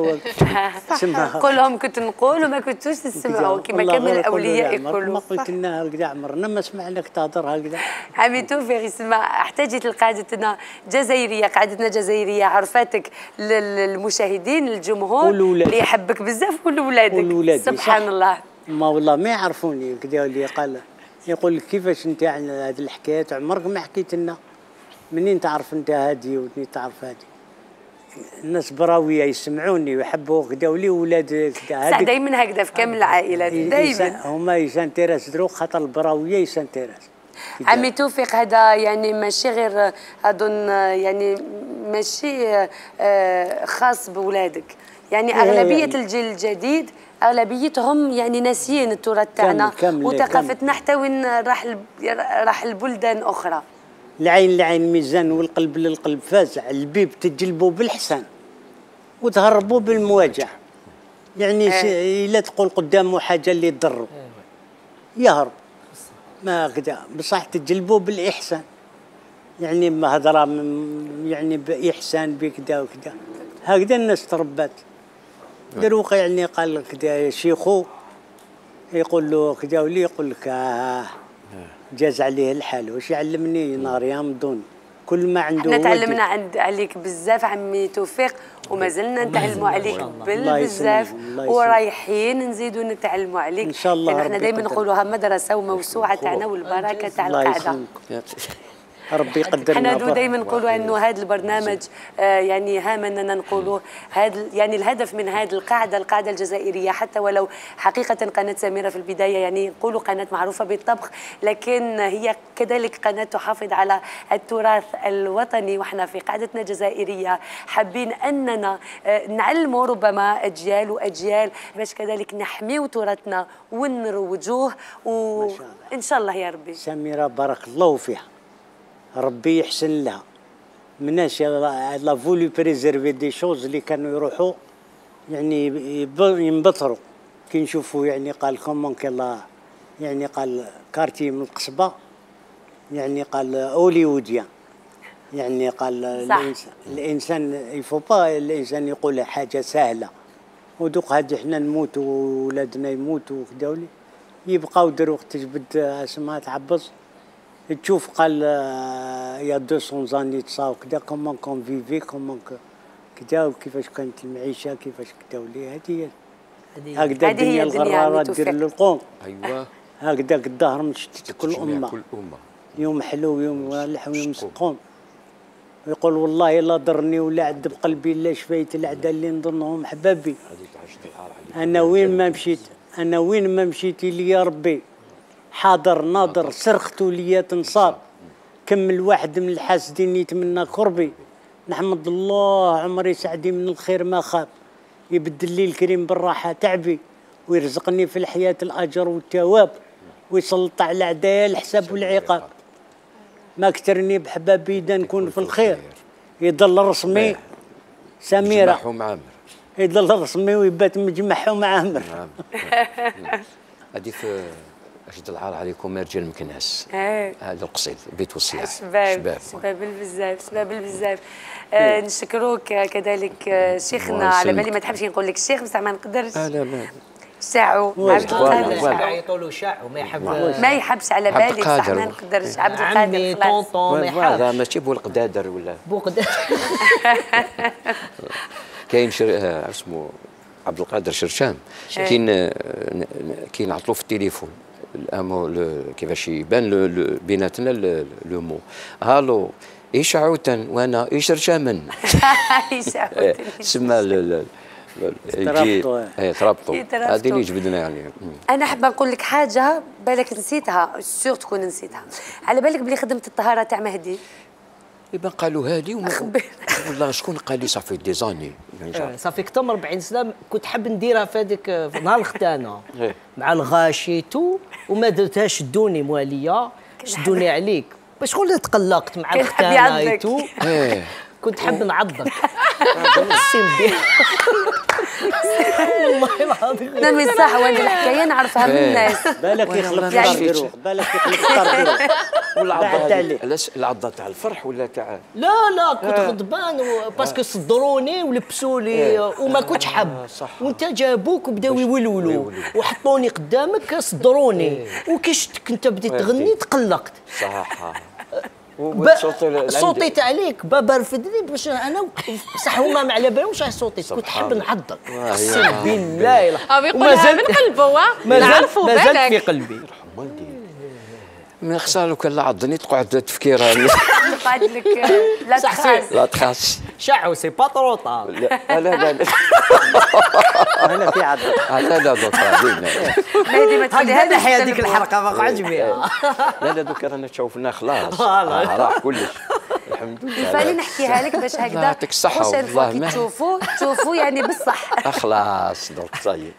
قول لهم كنت نقول وما كنتوش تسمعوا كما كان من الاولياء يقولوا.
ما قلت لنا هكذا عمرنا ما سمعناك تهضر هكذا.
عمي توفيق يسمع احتاجت لقعدتنا جزائريه، قعدتنا جزائريه عرفاتك للمشاهدين للجمهور اللي يحبك بزاف ولولادك سبحان الله.
ما والله ما يعرفوني كذا اللي قال يقول لك كيفاش انت عن هذه الحكايات عمرك ما حكيت لنا، منين تعرف انت هذه ومنين تعرف هذه؟ الناس براويه يسمعوني ويحبوا كذا ولي ولاد كذا.
صح دائما هكذا في كامل العائلات دائما
هما يسانتيراس درو خاطر البراويه يسانتيراس.
عمي توفيق هذا يعني ماشي غير اظن يعني ماشي خاص بولادك، يعني اغلبيه يعني الجيل الجديد اغلبيتهم يعني ناسيين التراث تاعنا وثقافتنا حتى وين راح البلدان اخرى.
العين لعين ميزان والقلب للقلب فازع، البيب تجلبوا بالحسن وتهربوا بالمواجع. يعني لا تقول قدامه حاجه اللي تضره يهرب ما كذا، بصح تجلبوا بالاحسان. يعني ما هضره يعني باحسان بكذا وكذا، هكذا الناس تربات. دروك يعني قال كذا شيخو يقول له كذا ولي يقول لك جاز عليه الحال واش يعلمني نهار يامضون كل ما عنده.
احنا تعلمنا عليك بزاف عمي توفيق وما زلنا نتعلموا عليك بزاف ورايحين نزيدوا نتعلموا عليك ان شاء الله. احنا دائما نقولوها مدرسه وموسوعه تاعنا والبركه تاع القاعده.
ربي يقدرنا.
احنا دائما نقولوا انه هذا البرنامج يعني هام اننا نقولوا هذا يعني الهدف من هذه القاعده الجزائريه، حتى ولو حقيقه قناه سميره في البدايه يعني نقولوا قناه معروفه بالطبخ، لكن هي كذلك قناه تحافظ على التراث الوطني. واحنا في قاعدتنا جزائريه حابين اننا نعلموا ربما اجيال واجيال باش كذلك نحميو تراثنا ونروجوه وان شاء الله يا ربي.
سميره بارك الله فيها، ربي يحسن لها. مناش لا فولي بريزيرفي دي شوز اللي كانوا يروحوا يعني ينبطروا كي نشوفوا يعني قال كومون كلا يعني قال كارتي من القصبه يعني قال هوليووديان يعني قال الانسان يفو با الانسان يقول حاجه سهله ودوق هذه احنا نموتوا وولادنا يموتوا وكذا يبقاو دروك تجبد اسمها تعبص تشوف قال يا 200 زاني تصاو كذا كومون كون فيفي كومون كذا وكيفاش كانت المعيشه كيفاش كذا ولي هذه هكذا الدنيا الغراره دير للقوم.
ايوه
هكذا الظهر مشتت كل امه يوم حلو يوم والح ويوم سقوم. ويقول والله لا ضرني ولا عذب قلبي الا شفيت الاعداء اللي نظنهم احبابي. انا وين ما مشيت لي يا ربي حاضر ناظر صرخت لي تنصاب كم الواحد من الحاسدين يتمنى قربي. نحمد الله عمري سعدي من الخير ما خاب يبدل لي الكريم بالراحه تعبي ويرزقني في الحياه الاجر والثواب ويسلط على اعدائي الحساب والعقاب. ما كترني بحبابي دا نكون في الخير يضل رسمي سميره يضل رسمي ويبات مجمعهم مع عمر.
هذه في أشد العار عليكم يا رجال مكناس. هذا القصيد بيت والصياح.
شباب بزاف شباب بزاف. نشكروك كذلك شيخنا، على بالي ما تحبش نقول لك الشيخ بصح ما نقدرش.
لا لا
شاعو عبد القادر،
يقولوا شاعو
ما يحبش على بالي بصح ما نقدرش. عبد القادر خلاص
طونطون ما يحبش.
ماشي بوالقدادر ولا
بوقدادر.
كاين اسمه عبد القادر شرشام، كاين عطلو في التليفون كيفاش يبان بيناتنا لو مو هالو ايش عوتن وانا ايش رشامن.
ايش عوتن
سما ترابطوا هذه اللي جبدنا يعني.
انا حابه نقول لك حاجه بالك نسيتها، سيغ تكون نسيتها. على بالك بلي خدمت الطهاره تاع مهدي؟
يبان قالوا هذه والله شكون قال لي صافي ديزاني
صافي كثر من 40 سنه كنت حاب نديرها في هذيك في نهار الختانه مع الغاشي تو وما درتهاش. شدوني مواليه شدوني عليك باش شغل تقلقت مع الختانه تو كنت حاب نعضك. والله العظيم
نمي صح، وانا الحكايه نعرفها من الناس.
بالك يخلف طردروخ، بالك يخلف طردروخ.
العضه تاع الفرح ولا تاع
لا كنت غضبان باسكو صدروني ولبسوا لي وما كنتش حاب، وانت جابوك وبداو يولولوا وحطوني قدامك صدروني وكي شفتك انت بديت تغني تقلقت.
صح
صوتيت عليك بابا رفدني باش انا بصح هما ما على بالهمش على صوتيت، كنت حاب نعضك اقسم بالله.
ومازال من قلبه نعرفوا بالك
مازال في قلبي.
من خساره لو كان لا عضني تقعد تفكيرها.
قعد لك لا
تخاس
شعو سي با طرو طار.
لا
انا في عض.
لا دكتور
مهدي ما تخليها
هذا هذيك الحلقه ما قعدش بها.
لا دوك رانا تشوفنا خلاص راح كلش الحمد لله.
فاني نحكيها لك باش هكذا
يعطيك الصحه والله ما
تشوفوا يعني بالصح.
خلاص دوك صايب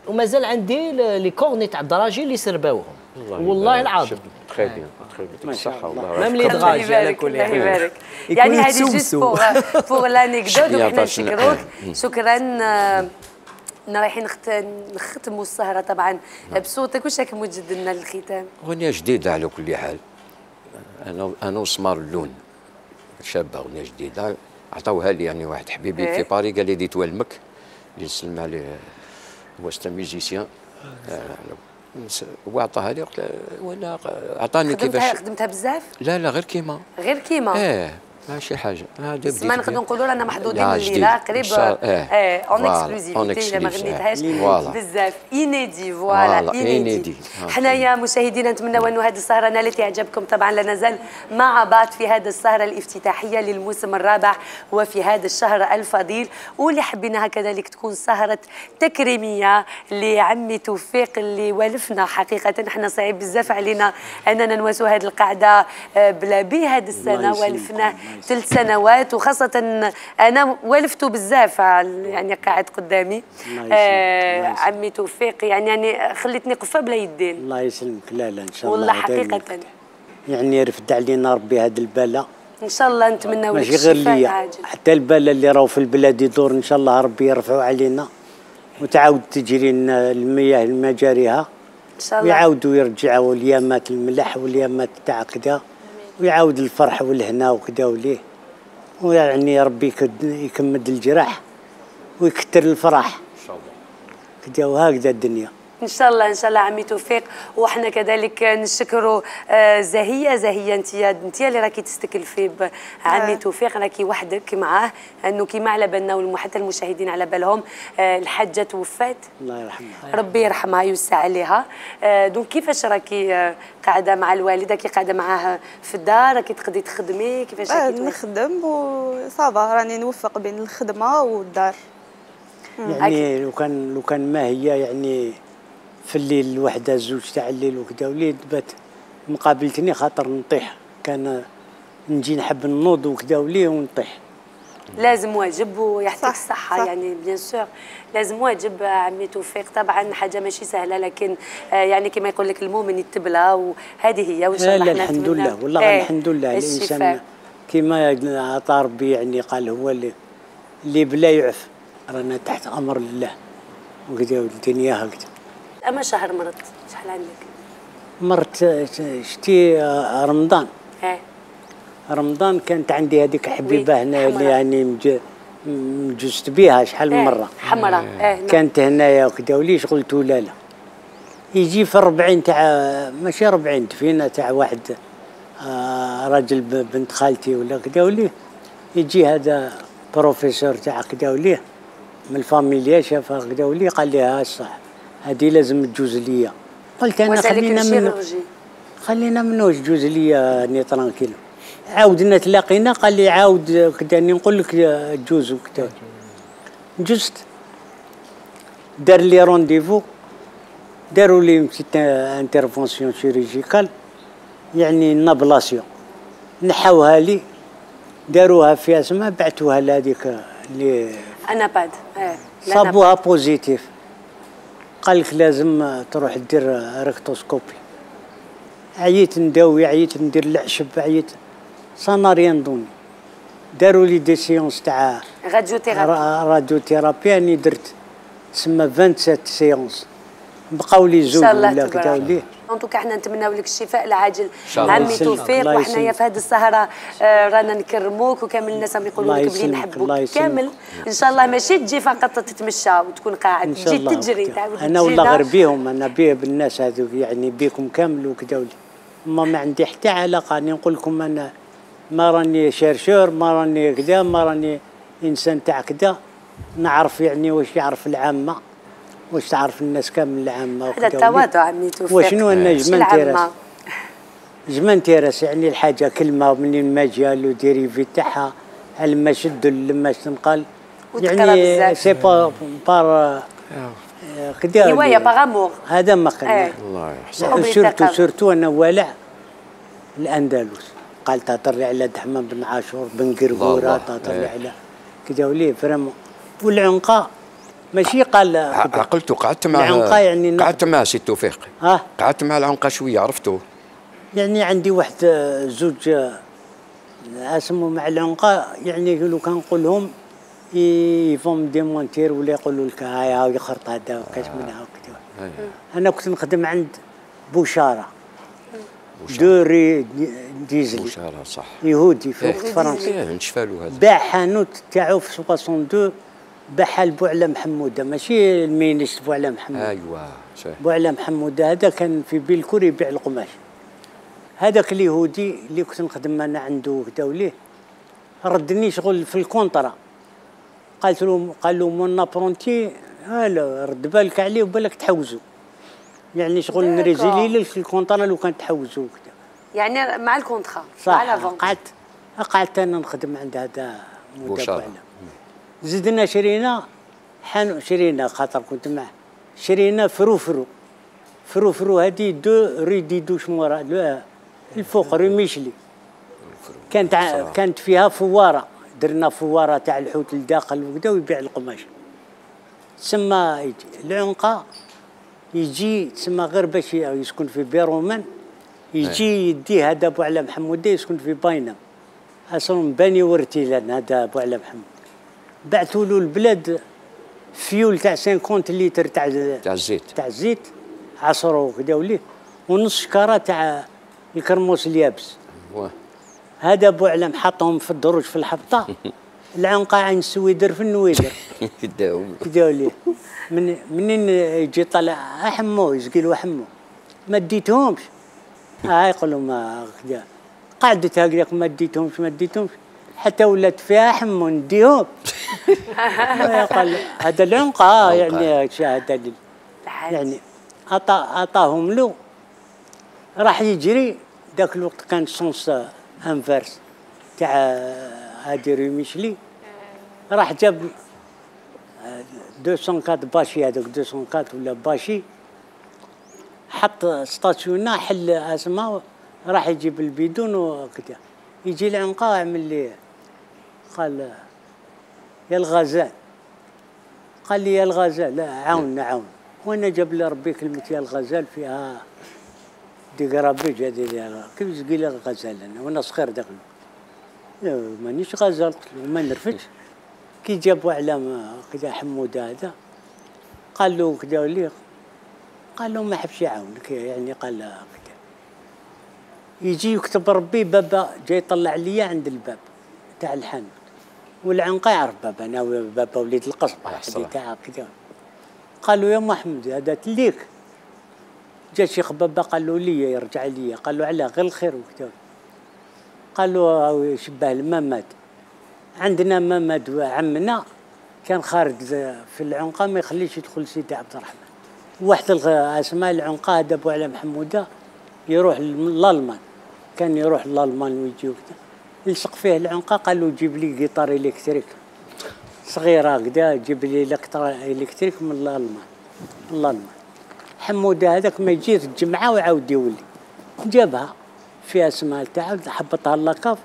ومازال عندي لي كورني تاع الدراجي اللي سرباوهم والله العظيم.
تخي بيان يعطيك الصحه والله.
ميم لي دراجي على كل
حال. يعني هذه جوست بور لانيكدوت. وحنا نشكروك شكرا. رايحين نختموا السهره طبعا بصوتك. واش راك موجد لنا للختام؟
اغنيه جديده على كل حال. انا وسمار اللون شابه، اغنيه جديده عطاوها لي يعني واحد حبيبي في باري قال لي ديت والمك اللي نسلم عليه هو ستا ميوزيسيان وعطاها لي وانا عطاني كيفاش
خدمتها بزاف.
لا غير كيما ماشي حاجه.
ما نقدروا نقولوا رانا محظوظين الليله قريب اون اكسكلوزيفيتي ما غنيتهاش بزاف. انيدي فوالا انيدي. حنايا مشاهدينا نتمنوا انه هذه السهره نالت اعجابكم. طبعا لا نزال مع بعض في هذه السهره الافتتاحيه للموسم الرابع وفي هذا الشهر الفضيل، واللي حبيناها كذلك تكون سهره تكريميه لعمي توفيق اللي والفنا. حقيقه احنا صعيب بزاف علينا اننا نواسوا هذه القاعده بلا بي. هذه السنه والفنا 3 سنوات، وخاصة أنا والفته بزاف يعني قاعد قدامي. عمي توفيق يعني خليتني قفة بلا يدين.
الله يسلمك. لا إن شاء الله
والله حقيقة
يعني رفد علينا ربي هذا البلاء
إن شاء الله. نتمنى لك
ماشي غير ليا، حتى البلاء اللي راهو في البلاد يدور إن شاء الله ربي يرفعوا علينا وتعاود تجري المياه لمجاريها إن شاء الله، ويعاودوا يرجعوا اليامات الملح واليامات تاع كذا، ويعاود الفرح والهنا وكذا وليه، ويعني ربي يكمد الجراح ويكثر الفرح ان شاء الله كذا، وهكذا الدنيا
ان شاء الله. ان شاء الله عمي توفيق. وحنا كذلك نشكروا زهيه انت اللي راكي تستكلفي بعمي توفيق، راكي وحدك معاه، انه كيما على بالنا وحتى المشاهدين على بالهم الحاجه توفات
الله يرحمها
ربي يرحمها ويوسع عليها. دونك كيفاش راكي قاعده مع الوالده؟ كي قاعده معاه في الدار راكي تقدري تخدمي؟ كيفاش راكي
نخدم وصافا راني نوفق بين الخدمه والدار.
يعني لو كان ما هي يعني في الليل الوحده زوج تاع الليل وكذا وليد بات مقابلتني خاطر نطيح، كان نجي نحب نوض وكذا وليه ونطيح.
لازم واجب ويعطيك الصحة يعني بيان سور لازم واجب عمي توفيق. طبعا حاجة ماشي سهلة، لكن يعني كما يقول لك المؤمن يتبلى، وهذه هي وإن شاء الله.
لا الحمد لله والله الحمد لله. الإنسان كما عطى ربي يعني قال هو اللي بلا يعف رانا تحت امر الله وكذا الدنيا هكذا.
اما شهر مرض شحال عندك؟
مرت شتي رمضان. رمضان كانت عندي هذيك حبيبه هنا اللي يعني مجوزت بها شحال من مره.
حمراء.
كانت هنايا وكذا وليش قلت لا لا. يجي في 40 تاع ماشي 40 دفينه تاع واحد راجل بنت خالتي ولا كذا وليه يجي هذا بروفيسور تاع كذا وليه من الفاميليا شافها كذا وليه قال لي ها صح هذه لازم تجوز ليا. قلت انا خلينا منو تجوز ليا اني ترانكيل. عاودنا تلاقينا قال لي عاود كذا نقول لك تجوز وكذا. جزت دار لي رونديفو داروا لي مشيت انترفونسيون شيريجيكال يعني نابلاسيون نحاوها لي داروها في اسماء بعثوها لهذيك اللي
انا بعد
صابوها بوزيتيف. قال لك لازم تروح دير ريكتوسكوبي. عييت نداوي عييت ندير العشب عييت سانا ريان دوني. داروا لي دي سيونس تاع راديوثيرابي اني درت تسمى 27 سيونس بقاو لي زوج ولا كذا وليه.
انتو احنا نتمناو لك الشفاء العاجل عمي توفيق وحنايا في هذه السهره رانا نكرموك وكامل الناس راهم يقولوا لك بلي نحبوك كامل. ان شاء الله ماشي تجي فقط تتمشى وتكون قاعد تجي تجري تعاود
انا ولا غير بيهم انا بيه بالناس هذوك يعني بيكم كامل وكذا ولي. ما عندي حتى علاقه اني نقول لكم انا ما راني شيرشور ما راني كذا ما راني انسان تاع كذا. نعرف يعني واش يعرف العامه واش تعرف الناس كامل العامه
هذا التواضع عمي توفيق.
وشنو انا جمنتي راس يعني الحاجه كلمه منين ما جا لو ديريفي تاعها لما شد لما تنقال يعني سي با بار كذا
هوايه باغامور
هذا ما كان.
الله يحسن.
سورتو انا والع الاندلس قال تهضر لي على دحمان بن عاشور بن قرقوره تهضر لي على كذا وليه فريمون والعنقاء ماشي قال
عقلته قعدت معاه يعني قعدت معاه سي توفيق. قعدت مع العنقه شويه عرفته
يعني عندي واحد زوج اسمه مع العنقه يعني لو كان نقول لهم يفهم ديمونتير ولا يقولوا لك هاي يخرط هذا وكاش منها وكذا. انا كنت نخدم عند بوشاره دوري ديزلي
بوشاره صح
يهودي في فرنسا
نشفى له هذا
باع حانوت تاعو في 62 باعها لبوعلى محموده ماشي المينيس بوعلى محموده.
ايوا
بوعلى محموده هذا كان في بيلكور يبيع القماش. هذاك اليهودي اللي كنت نخدم انا عنده كدا وليه ردني شغل في الكونطرا. قالت له قال له مون ابرونتي لا رد بالك عليه وبالك تحوزوا يعني شغل نريزيلي لك الكونطرا لو كان تحوزوا كدا
يعني مع الكونترا
مع لافون. قعدت انا نخدم عند هذا مدبر. زدنا شرينا خاطر كنت معه شرينا فرو هذه دو ريدي دوش مورا الفوق ريميشلي كانت فيها فواره درنا فواره تاع الحوت الداخل وكذا ويبيع القماش. تسمى يجي العنقه يجي تسمى غير باش يسكن في بيرومان يجي يدي هذا بوعلى محمود يسكن في باينه اصلا باني ورتيلان هذا بوعلى محمود بعثوا له البلاد فيول تاع 50 لتر تاع الزيت عصروا كذا وليه ونص شكاره تاع الكرموس اليابس. هذا بوعلم حطهم في الدروج في الحبطه العنقه عين السويدر في النويدر كذا وليه منين يجي طلع احمو يسقيلو احمو ما ديتهمش يقولوا ما كذا قعدت هكذاك ما ديتهمش حتى ولات فيها حمو نديهم. قال هذا العنقه يعني هذا يعني عطاهم له راح يجري ذاك الوقت كان سونس انفيرس تاع هادي ريميشلي راح جاب 204 باشي هذاك 204 ولا باشي حط ستاسيونا حل اسماء راح يجيب البيدون وكذا يجي العنقه يعمل لي قال يا الغزال قال لي يا الغزال لا عاون وانا جاب لي ربي كلمه يا الغزال فيها دي قرابيج هذه كيف تقول لي الغزال انا وانا صغير داخل مانيش غزال قلت له ما نرفدش كي جابوا على كذا حموده هذا قال له كذا لي قال له ما حبش يعاونك يعني قال له كذا يجي يكتب ربي بابا جاي يطلع لي عند الباب تاع الحانوت والعنقه يعرف بابا انا بابا وليد القصبه تاع كذا قال له يا محمد هذا تليك جا شيخ بابا قال له لي يرجع لي قال له علاه غير الخير وكذا قال له شبه المماد عندنا مماد عمنا كان خارج في العنقه ما يخليش يدخل سيدي عبد الرحمن واحد الاسماء العنقه دابوا على محموده يروح للالمان كان يروح للالمان ويجي وكذا يلصق فيه العنقه قال له جيب لي جيتار الكتريك صغيره كذا جيب لي الكتريك من الالمان حموده هذاك ما يجي الجمعه ويعاود يولي جابها فيها اسماء تاعها حبطها اللاكاف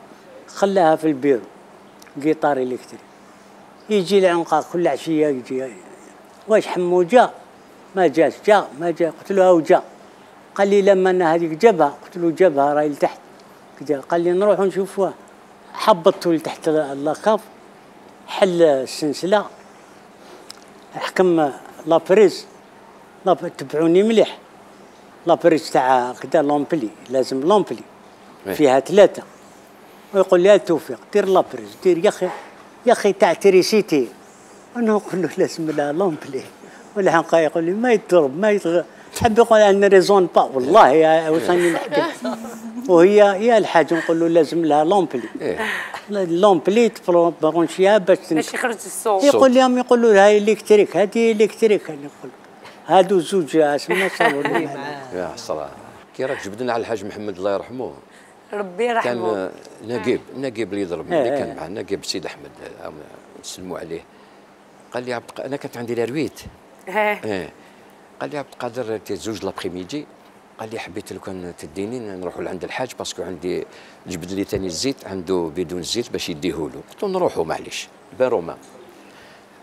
خلاها في البيرو جيتار الكتريك يجي العنقه كل عشيه يجي واش حمو جا ما جاش جا ما جا قلت له هاو جا قال لي لما انا هذيك جابها قلت له جابها راهي لتحت كذا قال لي نروحوا نشوفوها حبطته لتحت اللاكاف حل السلسله حكم لابريز تبعوني مليح لابريز تاع كذا لومبلي لازم لومبلي فيها 3 ويقول لي توفيق دير لابريز دير يا اخي تاع تريسيتي انا نقول له لازم لها لومبلي والعنقه يقول لي ما يضرب ما يتغ حب يقول انا ريزون با والله يا واش راني نحكي وهي يا الحاج نقول له لازم لها لومبلي لومبلي تبرونشيها باش
يخرج الصوت
يقول لهم يقول له هاي الكتريك هذه الكتريك انا نقول هادو زوج اسماء صاروا لي
يا صراحه كي راك جبدنا على الحاج محمد الله يرحمه
ربي يرحمه
كان نقيب اللي ضربني اللي كان معنا نقيب سيد احمد نسلموا عليه قال لي انا كانت عندي لارويت قال لي عبد القادر تزوج لابخيميدي قال لي حبيت لو كان تديني نروحوا لعند الحاج باسكو عندي جبد لي ثاني الزيت عنده بدون زيت باش يديه له قلت له نروحوا معليش بان رومان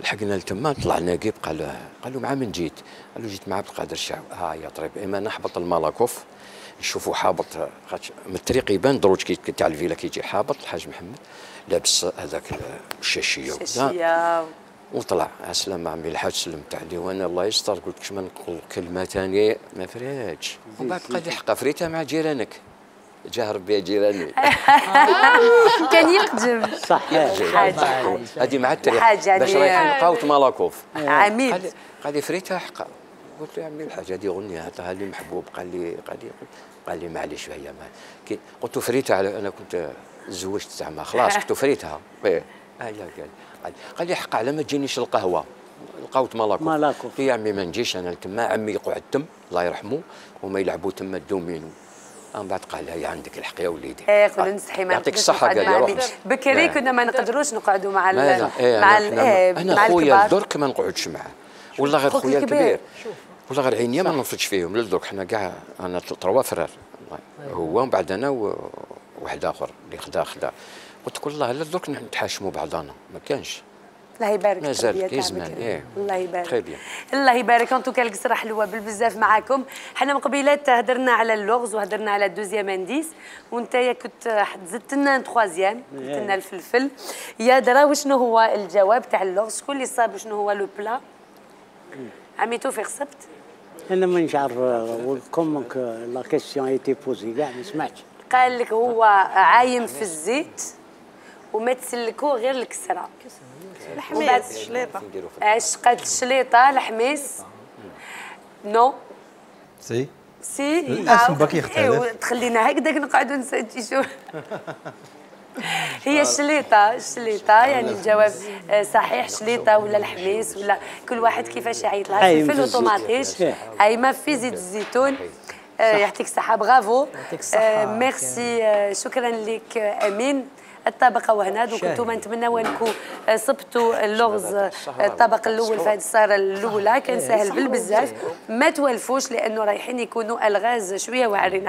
لحقنا لتما طلع ناقب قال له مع من جيت؟ قال له جيت مع عبد القادر الشعب يا طريب اما نحبط المالاكوف نشوفوا حابط من الطريق يبان دروج تاع الفيلا كيجي حابط الحاج محمد لابس هذاك الشاشيه وطلع السلام عمي الحاج سلمت عليه وانا الله يستر قلت كش ما نقول كلمه ثانيه ما فريتش ومن بعد قال لي حقا فريتها مع جيرانك جاه ربي جيراني
كان يقدم
صح
هذه مع التاريخ باش رايحين نلقاو مالاكوف
عميد
قال لي فريتها حقا قلت له يا عمي الحاج هذه غنيه عطاها لي محبوب قال لي معليش هي قلت له فريتها انا كنت تزوجت زعما خلاص كنت فريتها قال لي حق على ما تجينيش القهوه لقاوت مالاكوف يا عمي ما نجيش انا لتما عمي يقعد تم الله يرحمه وما يلعبوا تما الدومينو من بعد قال لها عندك الحق يا وليدي
قول نستحي ما
يعطيك الصحه قال لي روح
بكري كنا ما نقدروش نقعدوا مع
انا خويا الدرك ما نقعدش معاه والله غير خويا الكبير والله غير عينيا ما نفرجش فيهم للدرك حنا كاع انا 3 فرار هو ومن بعد انا وواحد اخر اللي خدا قلت والله لا درك نتحاشموا بعضنا ما كانش
الله يبارك
مازال كيزمان
الله يبارك
تري بيان
الله يبارك ان توكا القصره حلوه بالبزاف معاكم حنا من قبيلات هدرنا على اللغز وهدرنا على الدوزيام انديس وانت كنت زدت لنا تخوازيام قلت لنا الفلفل يا درا وشنو هو الجواب تاع اللغز شكون اللي صاب شنو هو لو بلا عمي توفيق صبت
انا مانيش عارف كومونك لا كيسيون ايتي بوزي كاع ما سمعتش
قال لك هو عايم في الزيت وما تسلكوه غير الكسره
الحميس الشليطه
عشقة الشليطه الحميس نو
سي
الاسم
باقي يختلف
تخلينا هكذاك نقعدوا نسجلوا هي الشليطه يعني الجواب صحيح شليطه ولا الحميس ولا كل واحد كيفاش يعيط لها الفلفل وطوماطيش ما في زيت الزيتون يعطيك الصحه برافو ميرسي شكرا لك امين الطبقه وهنا دوك انتم نتمنوا انكم صبتوا اللغز الطبق الاول في هذه السهره الاولى كان سهل بالبزاف ما توالفوش لانه رايحين يكونوا الغاز شويه واعرين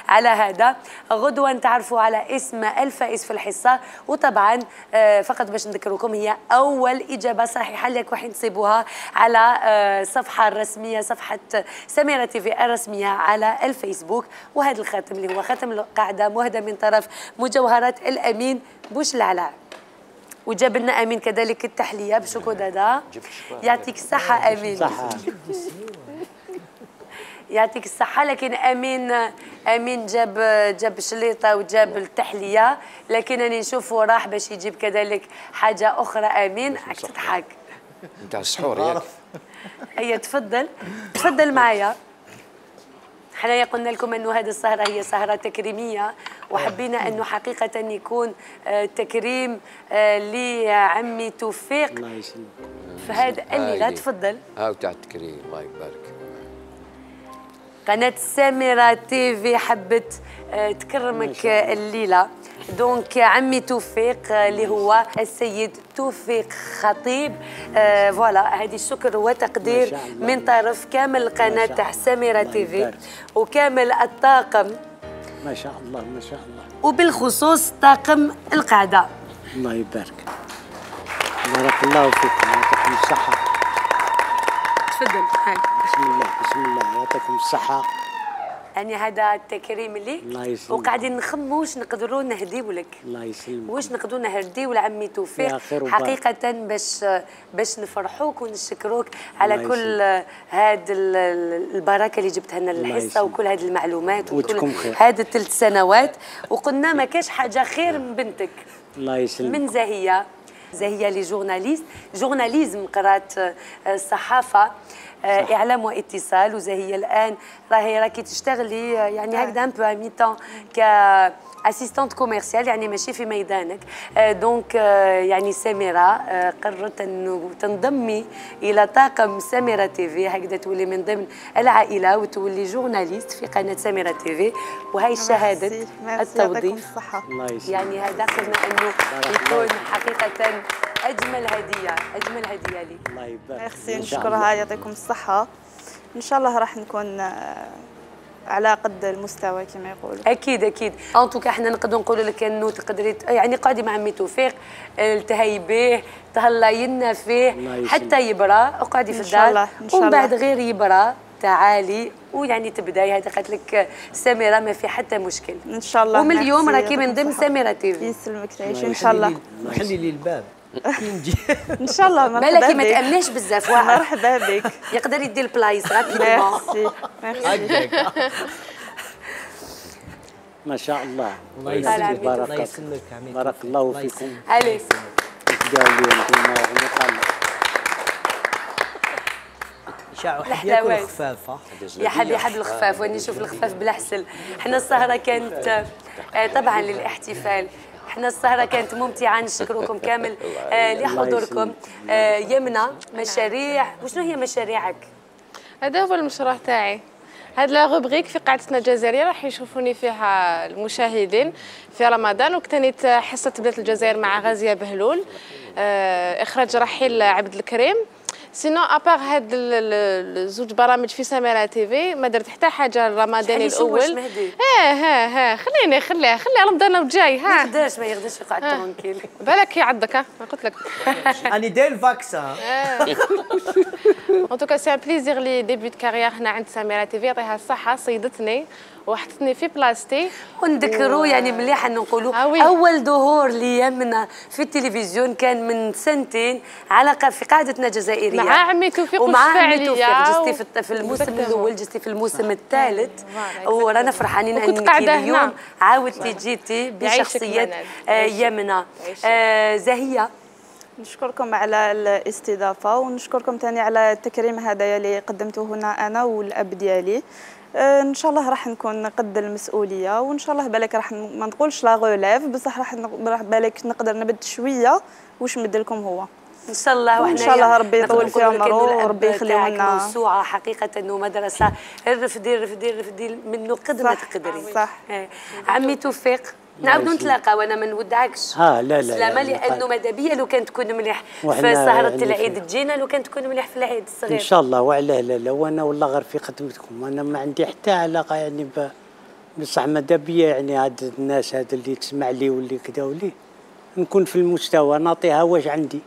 على هذا غدوه نتعرفوا على اسم الفائز في الحصه وطبعا فقط باش نذكركم هي اول اجابه صحيحه اللي راكم تصيبوها على الصفحه الرسميه صفحه سميره تي في الرسميه على الفيسبوك وهذا الخاتم اللي هو خاتم القاعده مهدى من طرف مجوهرات الامين بوش العلاء وجاب لنا امين كذلك التحليه بالشوكولاته. يعطيك الصحه امين.
صحة.
يعطيك الصحة. لكن أمين جاب شليطة وجاب التحلية، لكن أنا نشوفه راح باش يجيب كذلك حاجة أخرى. أمين راك تضحك
نتاع السحور ياك.
هيا تفضل معايا. حنايا قلنا لكم أنه هذه السهرة هي سهرة تكريمية، وحبينا أنه حقيقة يكون تكريم لعمي توفيق في هذا الليلة. تفضل.
هاو تاع التكريم الله يبارك.
قناة سامرة تيفي حبت تكرمك الليلة. دونك عمي توفيق اللي هو السيد توفيق خطيب، فوالا هذه الشكر وتقدير من طرف كامل قناة تاع سامرة تيفي وكامل الطاقم.
ما شاء الله ما شاء الله.
وبالخصوص طاقم القعدة.
الله يبارك. بارك الله فيكم يعطيكم الصحة.
تفضل.
بسم الله بسم الله يعطيكم الصحة.
يعني هذا التكريم ليك.
الله يسلمك.
وقاعدين نخموا واش نقدروا نهديو لك.
الله يسلمك.
واش نقدروا نهديو لعمي توفيق حقيقة باش نفرحوك ونشكروك على كل هذه البركة اللي جبتها لنا للحصة وكل هذه المعلومات وكل هذه 3 سنوات. وقلنا ما كاش حاجة خير من بنتك.
الله يسلمك.
من زهية لي جورناليزم، قرات الصحافة، اعلام واتصال. وزهية الان راكي تشتغلي يعني هكذا ان بو مي طون اسيستانت كوميرسيال، يعني ماشي في ميدانك. دونك يعني سامرة قررت انه تنضمي الى طاقم سامرة تيفي، هكذا تولي من ضمن العائله وتولي جورناليست في قناه سامرة تيفي. وهي شهاده التوظيف. يعني هذا قلنا انه يكون حقيقه اجمل هديه لي.
الله يبارك.
ميرسي، نشكرها يعطيكم الصحه. ان شاء الله راح نكون على قد المستوى كما يقولوا.
اكيد ان توكا احنا نقدروا نقولوا لك انه تقدري يعني قاعدي مع عمي توفيق، التهي به، تهلاي لنا فيه حتى يبرى، وقعدي في الدار ومن بعد غير يبرى تعالي ويعني تبداي. هذه قالت لك سامرة ما في حتى مشكل
ان شاء الله.
ومن اليوم راكي من ضمن سامرة تيفي.
يسلمك تعيشي ان شاء الله.
خلي لي الباب
ان شاء الله.
مرحبا بك. ما تامنيش بزاف.
مرحبا بك.
يقدر يدي البلايص رابيدمون.
ميرسي.
ما شاء الله.
الله يسلمك. الله يسلمك.
بارك الله فيكم.
عليك.
شاعوا ياكل الخفاف.
يا حبي الخفاف، واني نشوف الخفاف بالحسن. احنا السهره كانت طبعا للاحتفال. احنا السهره كانت ممتعه، نشكركم كامل لحضوركم. يمنى مشاريع، وشنو هي مشاريعك؟
هذا هو المشروع تاعي. هاد لا روبريك في قاعدتنا الجزائريه راح يشوفوني فيها المشاهدين في رمضان. وكتنيت حصه بلاد الجزائر مع غازيه بهلول، اخراج رحيل عبد الكريم. سينو ابار هاد الزوج برامج في سامرة تيفي ما درت حتى حاجه الرمضاني الاول. خليها رمضان وجاي.
ما يقدرش يقعد ترونكيل.
بالك يعضك. ما قلت لك
اني داير الفاكسان.
ان توكا سي ان بليزير لي ديبيوت كارير هنا عند سامرة تيفي. يعطيها الصحه، صيدتني وحطتني في بلاصتي.
ونذكروا يعني مليح نقولوا اول ظهور ليمنى في التلفزيون كان من 2 سنين في قاعدتنا الجزائريه
مع عمي توفيق.
ومع عمي توفيق جستي في الموسم الاول، جستي في الموسم الثالث. ورانا فرحانين انك اليوم عاودتي جيتي بشخصيه يمنى. زهية،
نشكركم على الاستضافه ونشكركم ثاني على التكريم هذايا اللي قدمته هنا انا والاب ديالي. ان شاء الله راح نكون قد المسؤوليه، وان شاء الله بالك راح ما نقولش لا غوليف، بصح راح بالك نقدر نبد شويه واش مد لكم هو
ان شاء الله.
وان شاء الله ربي يطول في عمره وربي يخليه لنا.
موسوعه حقيقه انه مدرسه رفدي منه قد ما تقدري.
صح.
عمي توفيق، نعاودوا نتلاقى وانا ما نودعكش.
لا
سلامه، لانه ماذا بيا لو كان تكون مليح في سهره العيد تجينا، لو كان تكون مليح في العيد الصغير
ان شاء الله. وعلاه لا وانا والله غير في خدمتكم. انا ما عندي حتى علاقه يعني بصح ماذا بيا يعني هاد الناس هذا اللي تسمع لي واللي كذا ولي نكون في المستوى نعطيها واش عندي.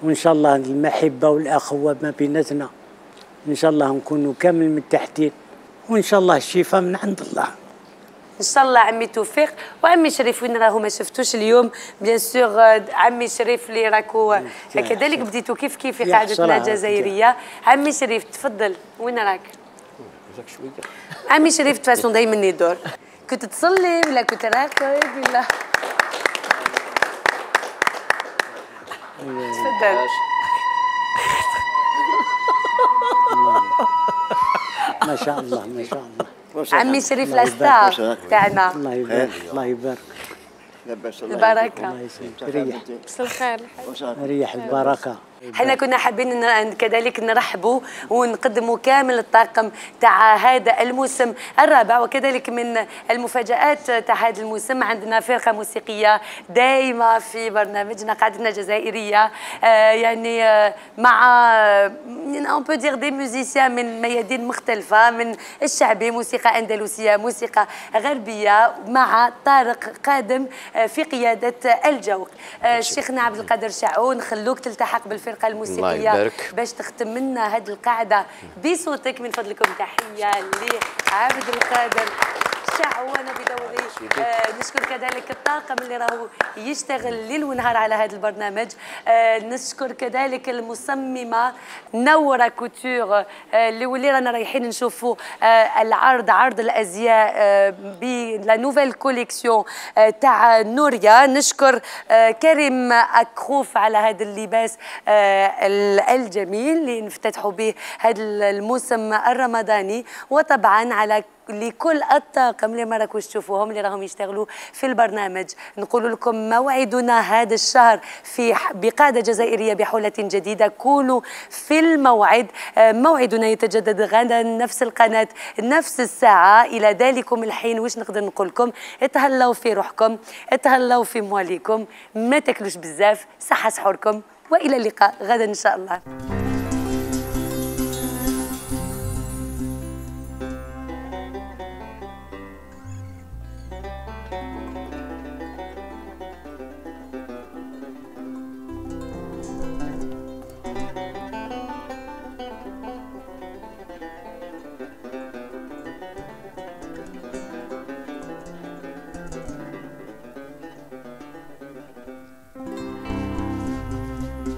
وان شاء الله المحبه والاخوه ما بيناتنا ان شاء الله نكونوا كامل متحدين، وان شاء الله الشفاء من عند الله.
ان شاء الله عمي توفيق وعمي شريف وين راهو ما شفتوش اليوم بيان سور. عمي شريف اللي راكو كذلك بديتوا كيف في قاعدتنا الجزائريه. عمي شريف تفضل وين راك؟ عمي شريف تفاسون دايما يدور. كنت تصلي ولا كنت راقد ولا؟ تفضل.
ما شاء الله ما شاء الله.
عمي شريف لاستار تاعنا.
الله يبارك الله يبارك.
البركه.
الله يسلمك. ريح.
بس الخير.
ريح البركه.
حنا كنا حابين كذلك نرحبوا ونقدموا كامل الطاقم تاع هذا الموسم الرابع، وكذلك من المفاجآت تاع هذا الموسم عندنا فرقة موسيقية دائمة في برنامجنا قاعدتنا الجزائرية، يعني مع on peut dire des musiciens من ميادين مختلفة، من الشعبي، موسيقى أندلسية، موسيقى غربية، مع طارق قادم في قيادة الجوق. شيخنا عبد القادر شعون، خلوك تلتحق بالفرقة الموسيقية باش تختم لنا هذه القاعدة بصوتك. من فضلكم تحية لعبد القادر شعون بدوري. نشكر كذلك الطاقم اللي راهو يشتغل ليل ونهار على هذا البرنامج. نشكر كذلك المصممة نورة كوتور اللي رانا رايحين نشوفوا العرض، عرض الازياء بلا نوفيل كوليكسيون تاع نوريا. نشكر كريم أكروف على هذا اللباس الجميل اللي نفتتحوا به هذا الموسم الرمضاني، وطبعا على لكل الطاقم اللي ما راكوش تشوفوهم اللي راهم يشتغلوا في البرنامج. نقول لكم موعدنا هذا الشهر بقاعدة جزائرية بحولة جديدة. كونوا في الموعد. موعدنا يتجدد غدا نفس القناة نفس الساعة. إلى ذلكم الحين واش نقدر نقول لكم؟ اتهلاو في روحكم، اتهلاو في مواليكم، ما تاكلوش بزاف، صحة سحوركم، وإلى اللقاء غدا إن شاء الله.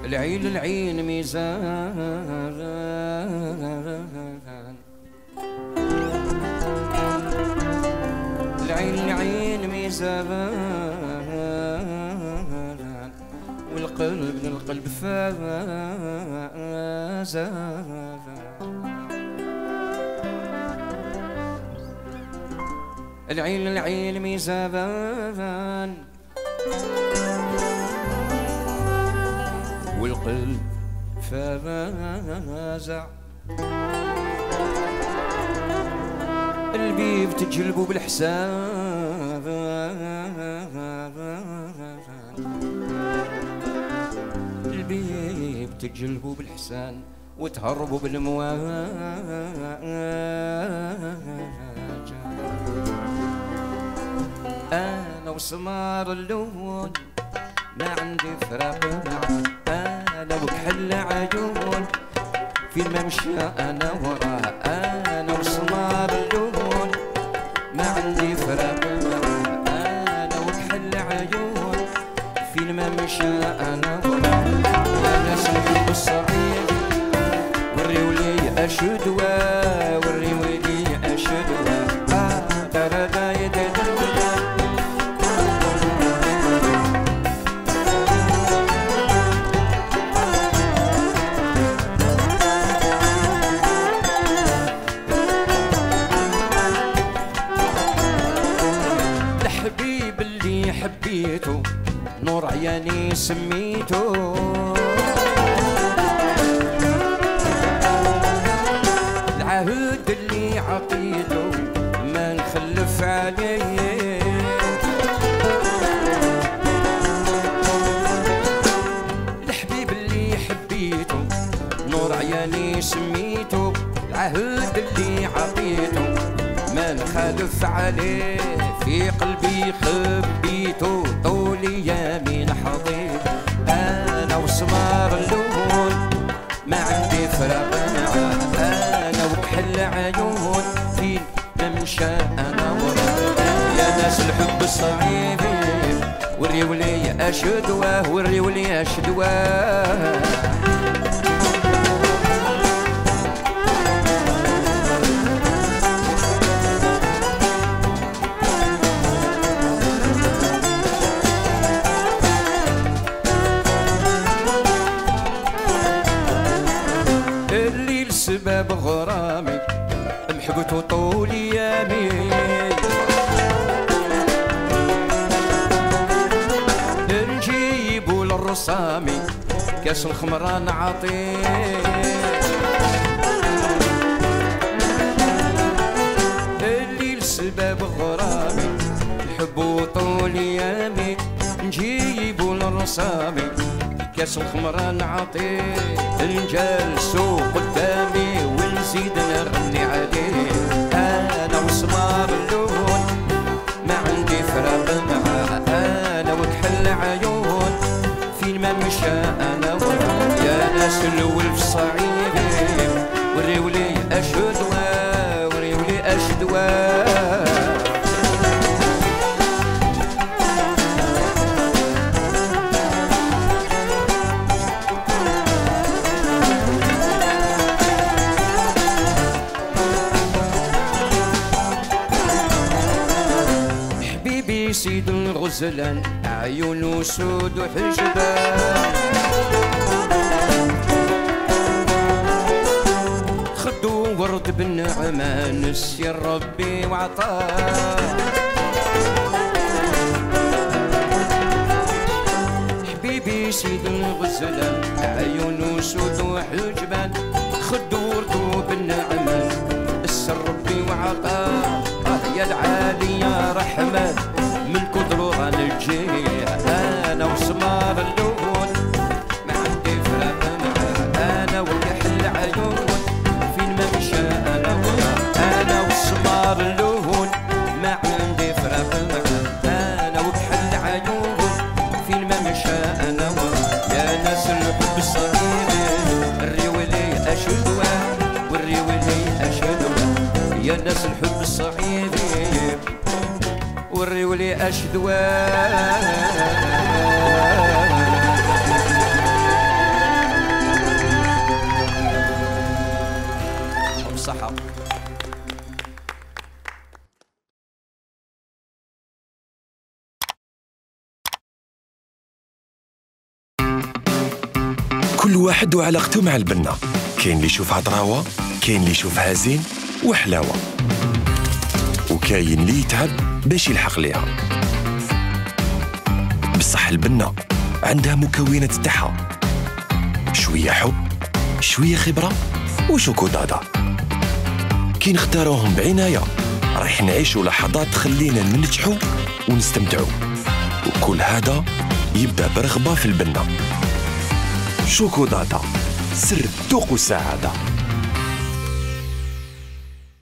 العين العين ميزان، العين العين ميزان، والقلب للقلب فازان. العين العين ميزان، والقلب فازع. البيب تجلبوا بالحساب، البيب تجلبوا بالحسان وتهربوا بالمواج. انا وسمار اللون ما عندي فراق معاه، انا وكحل عيون في الممشى انا وراه، انا وسمار اللون ما عندي فراق معاه، انا وكحل عيون في الممشى انا وراه. يا ناس نحب الصعيد وريولي اشدوى، وريولي اشدوى. حبيته نور عياني سميته، العهد اللي عطيته ما نخلف عليه. الحبيب اللي حبيته نور عياني سميته، العهد اللي عطيته ما نخالف عليه. في قلبي خبيته طول يمين حضيض، انا وسمار اللون ما عندي فراق معاه، انا وكحل عيون في ممشى انا وراه. الصعيبي وريولي اشدواه وريولي اشدواه الليل سبب غرامي محبوت طول ايامي نجيبو للرصامي كاس الخمرة نعطيه الليل سبب غرامي نحبو طول ايامي نجيبو للرصامي كاس الخمرة نعطيه نجلسو قدامي ونزيد نغني عليه انا وسمار اللون ما عندي فراق معاه انا وكحل عيون فين ما مشى انا وراه يا ناس الولف صعيبي وريولي اشدواه وريولي اشدواه سيد الغزلان عيونه سود وحجبان خدو ورد بالنعمة نسي ربي وعطاه حبيبي سيد الغزلان عيونه سود وحجبان خدو ورد بالنعمة نسي ربي وعطاه يا العالي يا رحمن من كثر غنجيه انا وسمار اللون ما عندي فراق معاه انا وكحل عيون فين ما مشى انا وراه انا وسمار اللون ما عندي فراق معاه انا وكحل عيون فين ما مشى انا وراه يا ناس الحب الصغير الريولي اشدواه والريولي اشدواه يا ناس الحب الصغير والريولي اشدواه بصحة
كل واحد وعلاقته مع البنة، كاين اللي يشوفها طراوة، كاين اللي يشوفها زين وحلاوة، وكاين اللي يتعب باش يلحق ليها. بصح البنة عندها مكونات تاعها، شوية حب، شوية خبرة وشوكولاتة. كي نختاروهم بعناية رايح نعيشوا لحظات تخلينا ننجحوا ونستمتعوا، وكل هذا يبدأ برغبة في البنة. شوكولاتة، سر الذوق والسعادة.